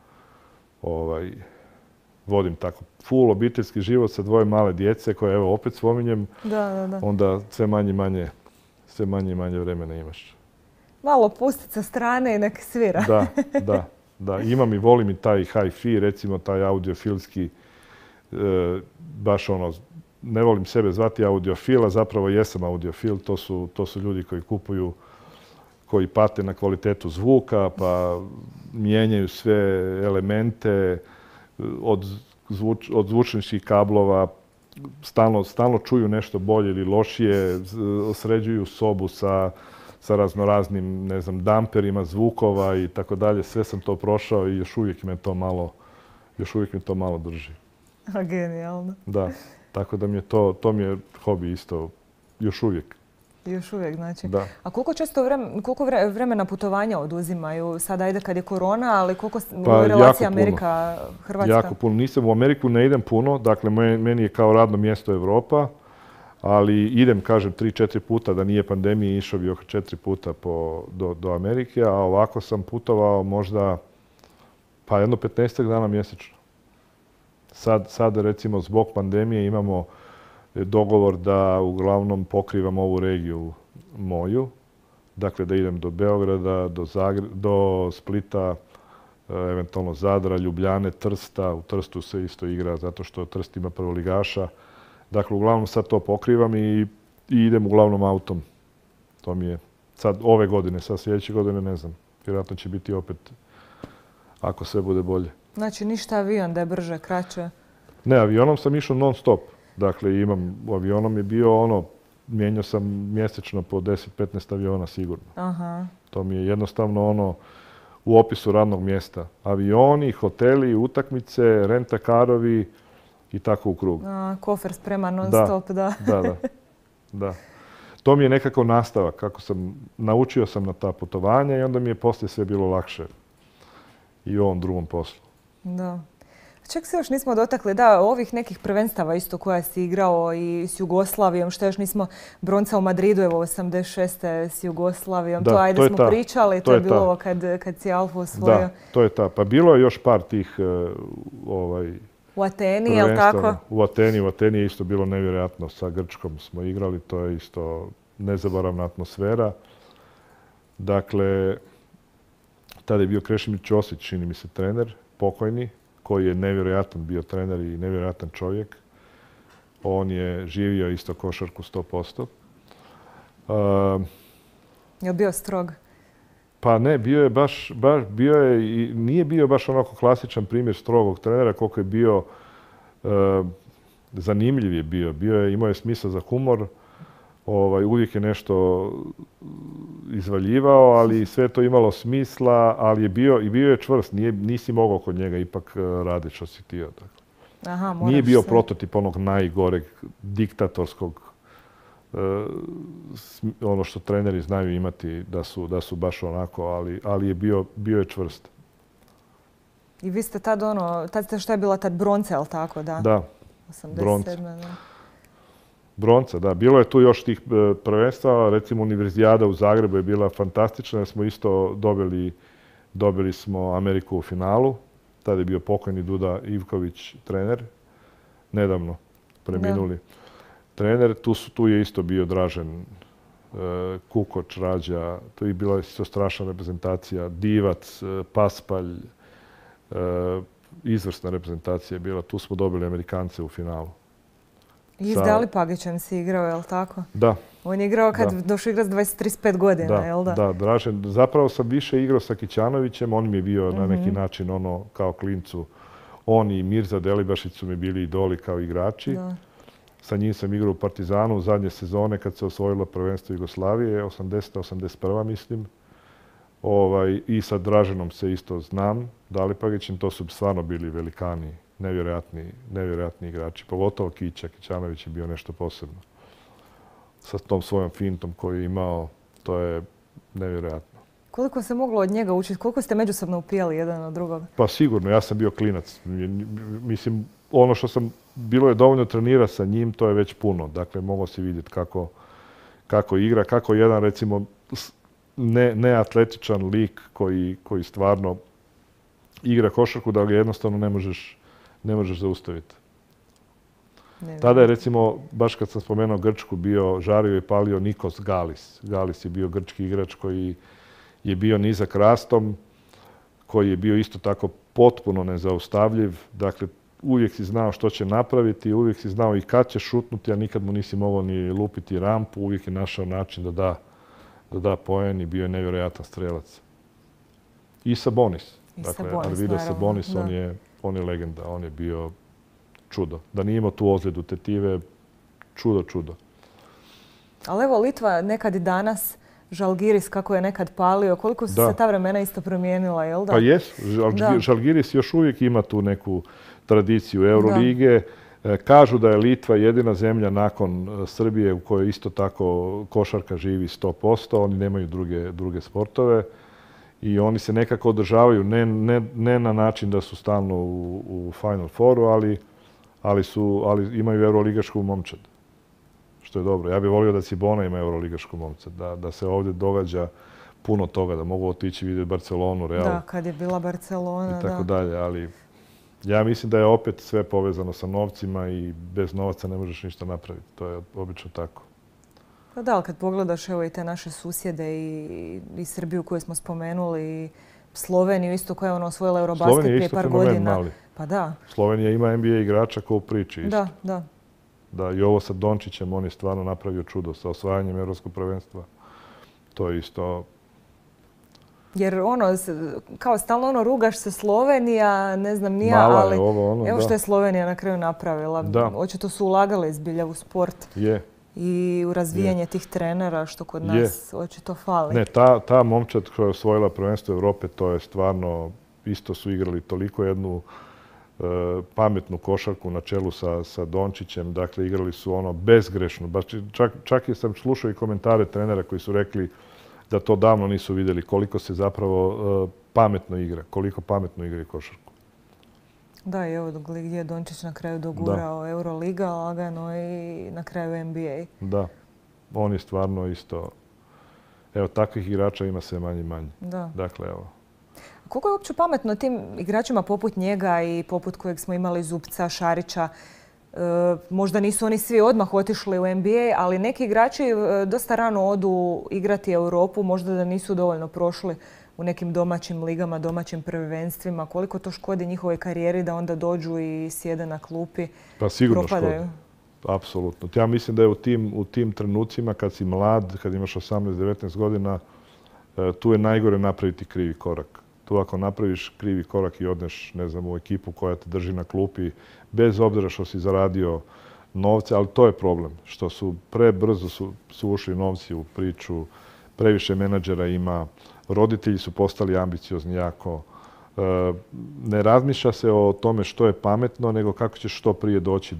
vodim tako full obiteljski život sa dvoje male djece koje, evo, opet spominjem. Da. Onda sve manje i manje vremena imaš. Malo pustit sa strane i nek svira. Da. Imam i volim i taj hi-fi, recimo taj audiofilski, baš ne volim sebe zvati audiofil, a zapravo jesam audiofil. To su ljudi koji kupuju, koji pate na kvalitetu zvuka, pa mijenjaju sve elemente od zvučničkih kablova, stalno čuju nešto bolje ili lošije, sređuju sobu sa raznoraznim, ne znam, damperima zvukova i tako dalje. Sve sam to prošao i još uvijek me to malo drži. Genijalno. Da, tako da mi je to mi je hobi isto još uvijek. Još uvijek, znači. Da. A koliko vremena putovanja oduzimaju? Sad ajde kad je korona, ali koliko relacija Amerika-Hrvatska? Jako puno. Nisam u Ameriku, ne idem puno. Dakle, meni je kao radno mjesto Europa. Ali idem, kažem, 3-4 puta, da nije pandemije, išao bi oko 4 puta do Amerike, a ovako sam putovao možda pa jedno 15 dana mjesečno. Sad, recimo, zbog pandemije imamo dogovor da uglavnom pokrivam ovu regiju moju. Dakle, da idem do Beograda, do Splita, eventualno Zadra, Ljubljane, Trsta. U Trstu se isto igra zato što Trst ima prvoligaša. Dakle, uglavnom sad to pokrivam i idem uglavnom autom. To mi je sad ove godine, sad sljedeće godine ne znam. Vjerojatno će biti opet, ako sve bude bolje. Znači, ništa avion da je brže, kraće? Ne, avionom sam išao non stop. Dakle, avionom je bio mijenjao sam mjesečno po 10-15 aviona sigurno. Aha. To mi je jednostavno u opisu radnog mjesta. Avioni, hoteli, utakmice, rentakarovi i tako u krug. Kofer spreman non stop, da. Da. To mi je nekako nastavak. Naučio sam na ta putovanja i onda mi je poslije sve bilo lakše i u ovom drugom poslu. Da. Čak se još nismo dotakli, da, ovih nekih prvenstava isto koja si igrao i s Jugoslavijom, što još nismo, bronca u Madridu, evo 86. s Jugoslavijom, to ajde smo pričali, to je bilo ovo kad si Alfu osvojio. Da, to je ta. Pa bilo je još par tih u Ateni, je li tako? U Ateni je isto bilo nevjerojatno. Sa Grčkom smo igrali, to je isto nezaboravna atmosfera. Dakle, tada je bio Krešimir Ćosić, čini mi se, trener, pokojni, koji je nevjerojatan bio trener i nevjerojatan čovjek. On je živio isto košarku 100%. Je li bio strog? Pa ne, nije bio baš onako klasičan primjer strogog trenera koliko je bio zanimljiv je bio. Imao je smisla za humor, uvijek je nešto izvaljivao, ali sve to imalo smisla, ali bio je čvrst, nisi mogao kod njega ipak raditi što si htio. Nije bio prototip onog najgoreg diktatorskog, ono što treneri znaju imati, da su baš onako, ali je bio je čvrst. I vi ste tad šta je bila tad, bronca, je li tako? Da, 87. Bronca, da. Bilo je tu još tih prvenstava, recimo Univerzijada u Zagrebu je bila fantastična, jer smo isto dobili smo Ameriku u finalu. Tada je bio pokojni Duda Ivković trener, nedavno preminuli trener. Tu je isto bio Dražen Kukoč, Rađa, to je bila isto strašna reprezentacija, Divac, Paspalj, izvrsna reprezentacija je bila. Tu smo dobili Amerikance u finalu. I s Dalipagićem si igrao, je li tako? Da. On je igrao kad došao igrati s 35 godina, je li da? Da, Dražen. Zapravo sam više igrao sa Kićanovićem, on mi je bio na neki način kao klincu. On i Mirza Delibašić su mi bili idoli kao igrači. Sa njim sam igrao u Partizanu zadnje sezone kad se osvojilo prvenstvo Jugoslavije, 80-81 mislim. I sa Draženom se isto znam, Dalipagićem, to su stvarno bili velikani. Nevjerojatni igrači. Pogotovo Kićanović je bio nešto posebno. Sa tom svojom fintom koju je imao, to je nevjerojatno. Koliko se moglo od njega učiti? Koliko ste međusobno upijali jedan od drugog? Pa sigurno, ja sam bio klinac. Mislim, ono što bilo je dovoljno trenirati sa njim, to je već puno. Dakle, mogao si vidjeti kako igra, kako jedan, recimo, neatletičan lik koji stvarno igra košarku, da ga jednostavno ne možeš zaustaviti. Tada je, recimo, baš kad sam spomenuo Grčku, žario i palio Nikos Galis. Galis je bio grčki igrač koji je bio nizak rastom, koji je bio isto tako potpuno nezaustavljiv. Dakle, uvijek si znao što će napraviti, uvijek si znao i kad će šutnuti, a nikad mu nisi mogao ni lupiti rampu. Uvijek je našao način da da poen i bio je nevjerojatan strelac. I Sabonis. Dakle, Arvidas Sabonis, on je legenda, on je bio čudo. Da nije imao tu ozljedu tetive, čudo. Ali evo, Litva nekad i danas, Žalgiris kako je nekad palio, koliko su se ta vremena isto promijenila, jel da? Pa jesu. Žalgiris još uvijek ima tu neku tradiciju Eurolige. Kažu da je Litva jedina zemlja nakon Srbije u kojoj isto tako košarka živi 100%. Oni nemaju druge sportove. I oni se nekako održavaju, ne na način da su stalno u Final Fouru, ali imaju euroligašku momčad. Što je dobro. Ja bih volio da Cibona ima euroligašku momčad, da se ovdje događa puno toga, da mogu otići vidjeti Barcelonu, Real. Da, kad je bila Barcelona, i tako dalje, ali ja mislim da je opet sve povezano sa novcima i bez novaca ne možeš ništa napraviti. To je obično tako. Pa da, ali kad pogledaš evo i te naše susjede i Srbiju koju smo spomenuli i Sloveniju isto koja je osvojila Eurobasket prije par godina. Mali. Pa da. Slovenija ima NBA igrača kao u priči isto. Da. Da, i ovo sa Dončićem, on je stvarno napravio čudo sa osvajanjem Europskog prvenstva. To je isto... Jer kao stalno rugaš se Slovenija, ne znam nija, mala ali je ovo, evo što je Slovenija na kraju napravila. Očito su ulagali zbilja u sport. i u razvijanje tih trenera, što kod nas očito fali. Ne, ta momčad koja je osvojila prvenstvo Europe, to je stvarno, isto su igrali toliko jednu pametnu košarku na čelu sa Dončićem. Dakle, igrali su ono bezgrešno. Čak i sam slušao i komentare trenera koji su rekli da to davno nisu vidjeli koliko se zapravo pametno igra, koliko pametno igra košarku. Da, i evo gdje je Dončić na kraju dogurao Euroliga, lagano i na kraju NBA. Da, on je stvarno isto... Evo, takvih igrača ima sve manje i manje. Da. Dakle, evo. Koliko je uopće pametno tim igračima poput njega i poput kojeg smo imali Zupca, Šarića? Možda nisu oni svi odmah otišli u NBA, ali neki igrači dosta rano odu igrati Europu, možda da nisu dovoljno prošli u nekim domaćim ligama, domaćim prvenstvima. Koliko to škodi njihovoj karijeri da onda dođu i sjede na klupi, pa sigurno propadaju? Škodi. Apsolutno. Ja mislim da je u tim trenucima kad si mlad, kad imaš 18-19 godina, tu je najgore napraviti krivi korak. Tu ako napraviš krivi korak i odneš, ne znam, u ekipu koja te drži na klupi, bez obzira što si zaradio novce, ali to je problem. Što su prebrzo su ušli novci u priču, previše menadžera ima, roditelji su postali ambiciozni jako. Ne razmišlja se o tome što je pametno, nego kako ćeš što prije doći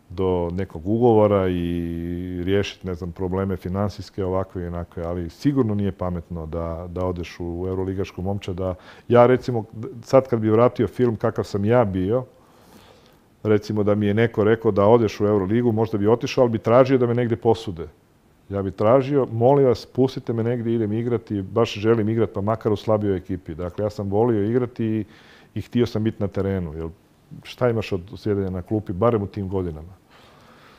do nekog ugovora i riješiti, ne znam, probleme financijske, ovakve i onakve, ali sigurno nije pametno da odeš u euroligašku momčad. Ja recimo, sad kad bi vratio film kakav sam ja bio, recimo da mi je neko rekao da odeš u Euroligu, možda bi otišao, ali bi tražio da me negdje posude. Ja bi tražio, molim vas, pustite me negdje, idem igrati, baš želim igrati, pa makar u slabijoj ekipi. Dakle, ja sam volio igrati i htio sam biti na terenu. Jer šta imaš od sjedenja na klupi, barem u tim godinama?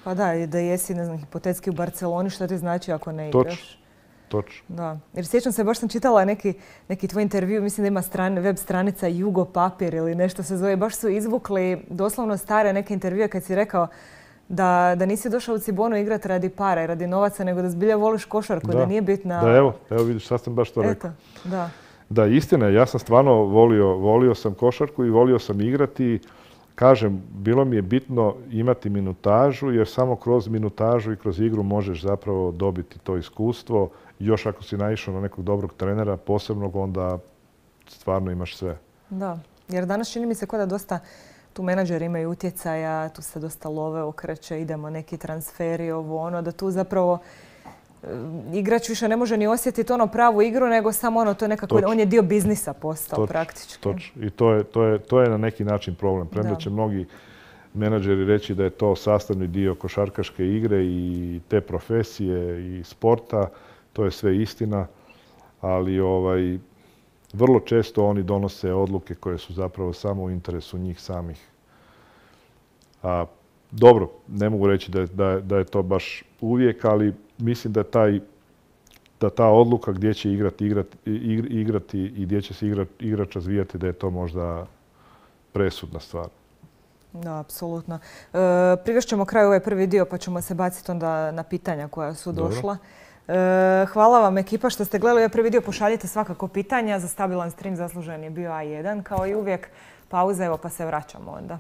Pa da, da jesi, ne znam, hipotetski u Barceloni, što ti znači ako ne igraš? Točno. Da. Jer sjećam se, baš sam čitala neki tvoj intervju, mislim da ima web stranica Jugo Papir ili nešto se zove. Baš su izvukli doslovno stare neke intervjue kad si rekao da nisi došao u Cibonu igrati radi para i radi novaca, nego da zbilja voliš košarku, da nije bitna... Da, evo vidiš, sad sam baš to rekao. Da. Da, istina je, ja sam stvarno volio sam košarku i volio sam igrati. Kažem, bilo mi je bitno imati minutažu, jer samo kroz minutažu i kroz igru možeš zapravo dobiti to iskustvo. Još ako si naišao na nekog dobrog trenera, posebnog, onda stvarno imaš sve. Da, jer danas čini mi se kao da dosta tu menadžeri imaju utjecaja, tu se dosta love okreće, idemo neki transferi, ovo ono, da tu zapravo igrač više ne može ni osjetiti ono pravu igru, nego samo ono, to je nekako, on je dio biznisa postao praktički. Točno. I to je na neki način problem. Premda će mnogi menadžeri reći da je to sastavni dio košarkaške igre i te profesije i sporta, to je sve istina, ali vrlo često oni donose odluke koje su zapravo samo u interesu njih samih. Dobro, ne mogu reći da je to baš uvijek, ali mislim da ta odluka gdje će igrati i gdje će se igrač razvijati, da je to možda presudna stvar. Da, apsolutno. Privešćemo kraju ovaj prvi dio pa ćemo se baciti onda na pitanja koja su došla. Hvala vam ekipa što ste gledali ovaj prvi dio. Pošaljite svakako pitanja. Za stabilan stream zaslužen je bio A1 kao i uvijek. Pauza, evo pa se vraćamo onda.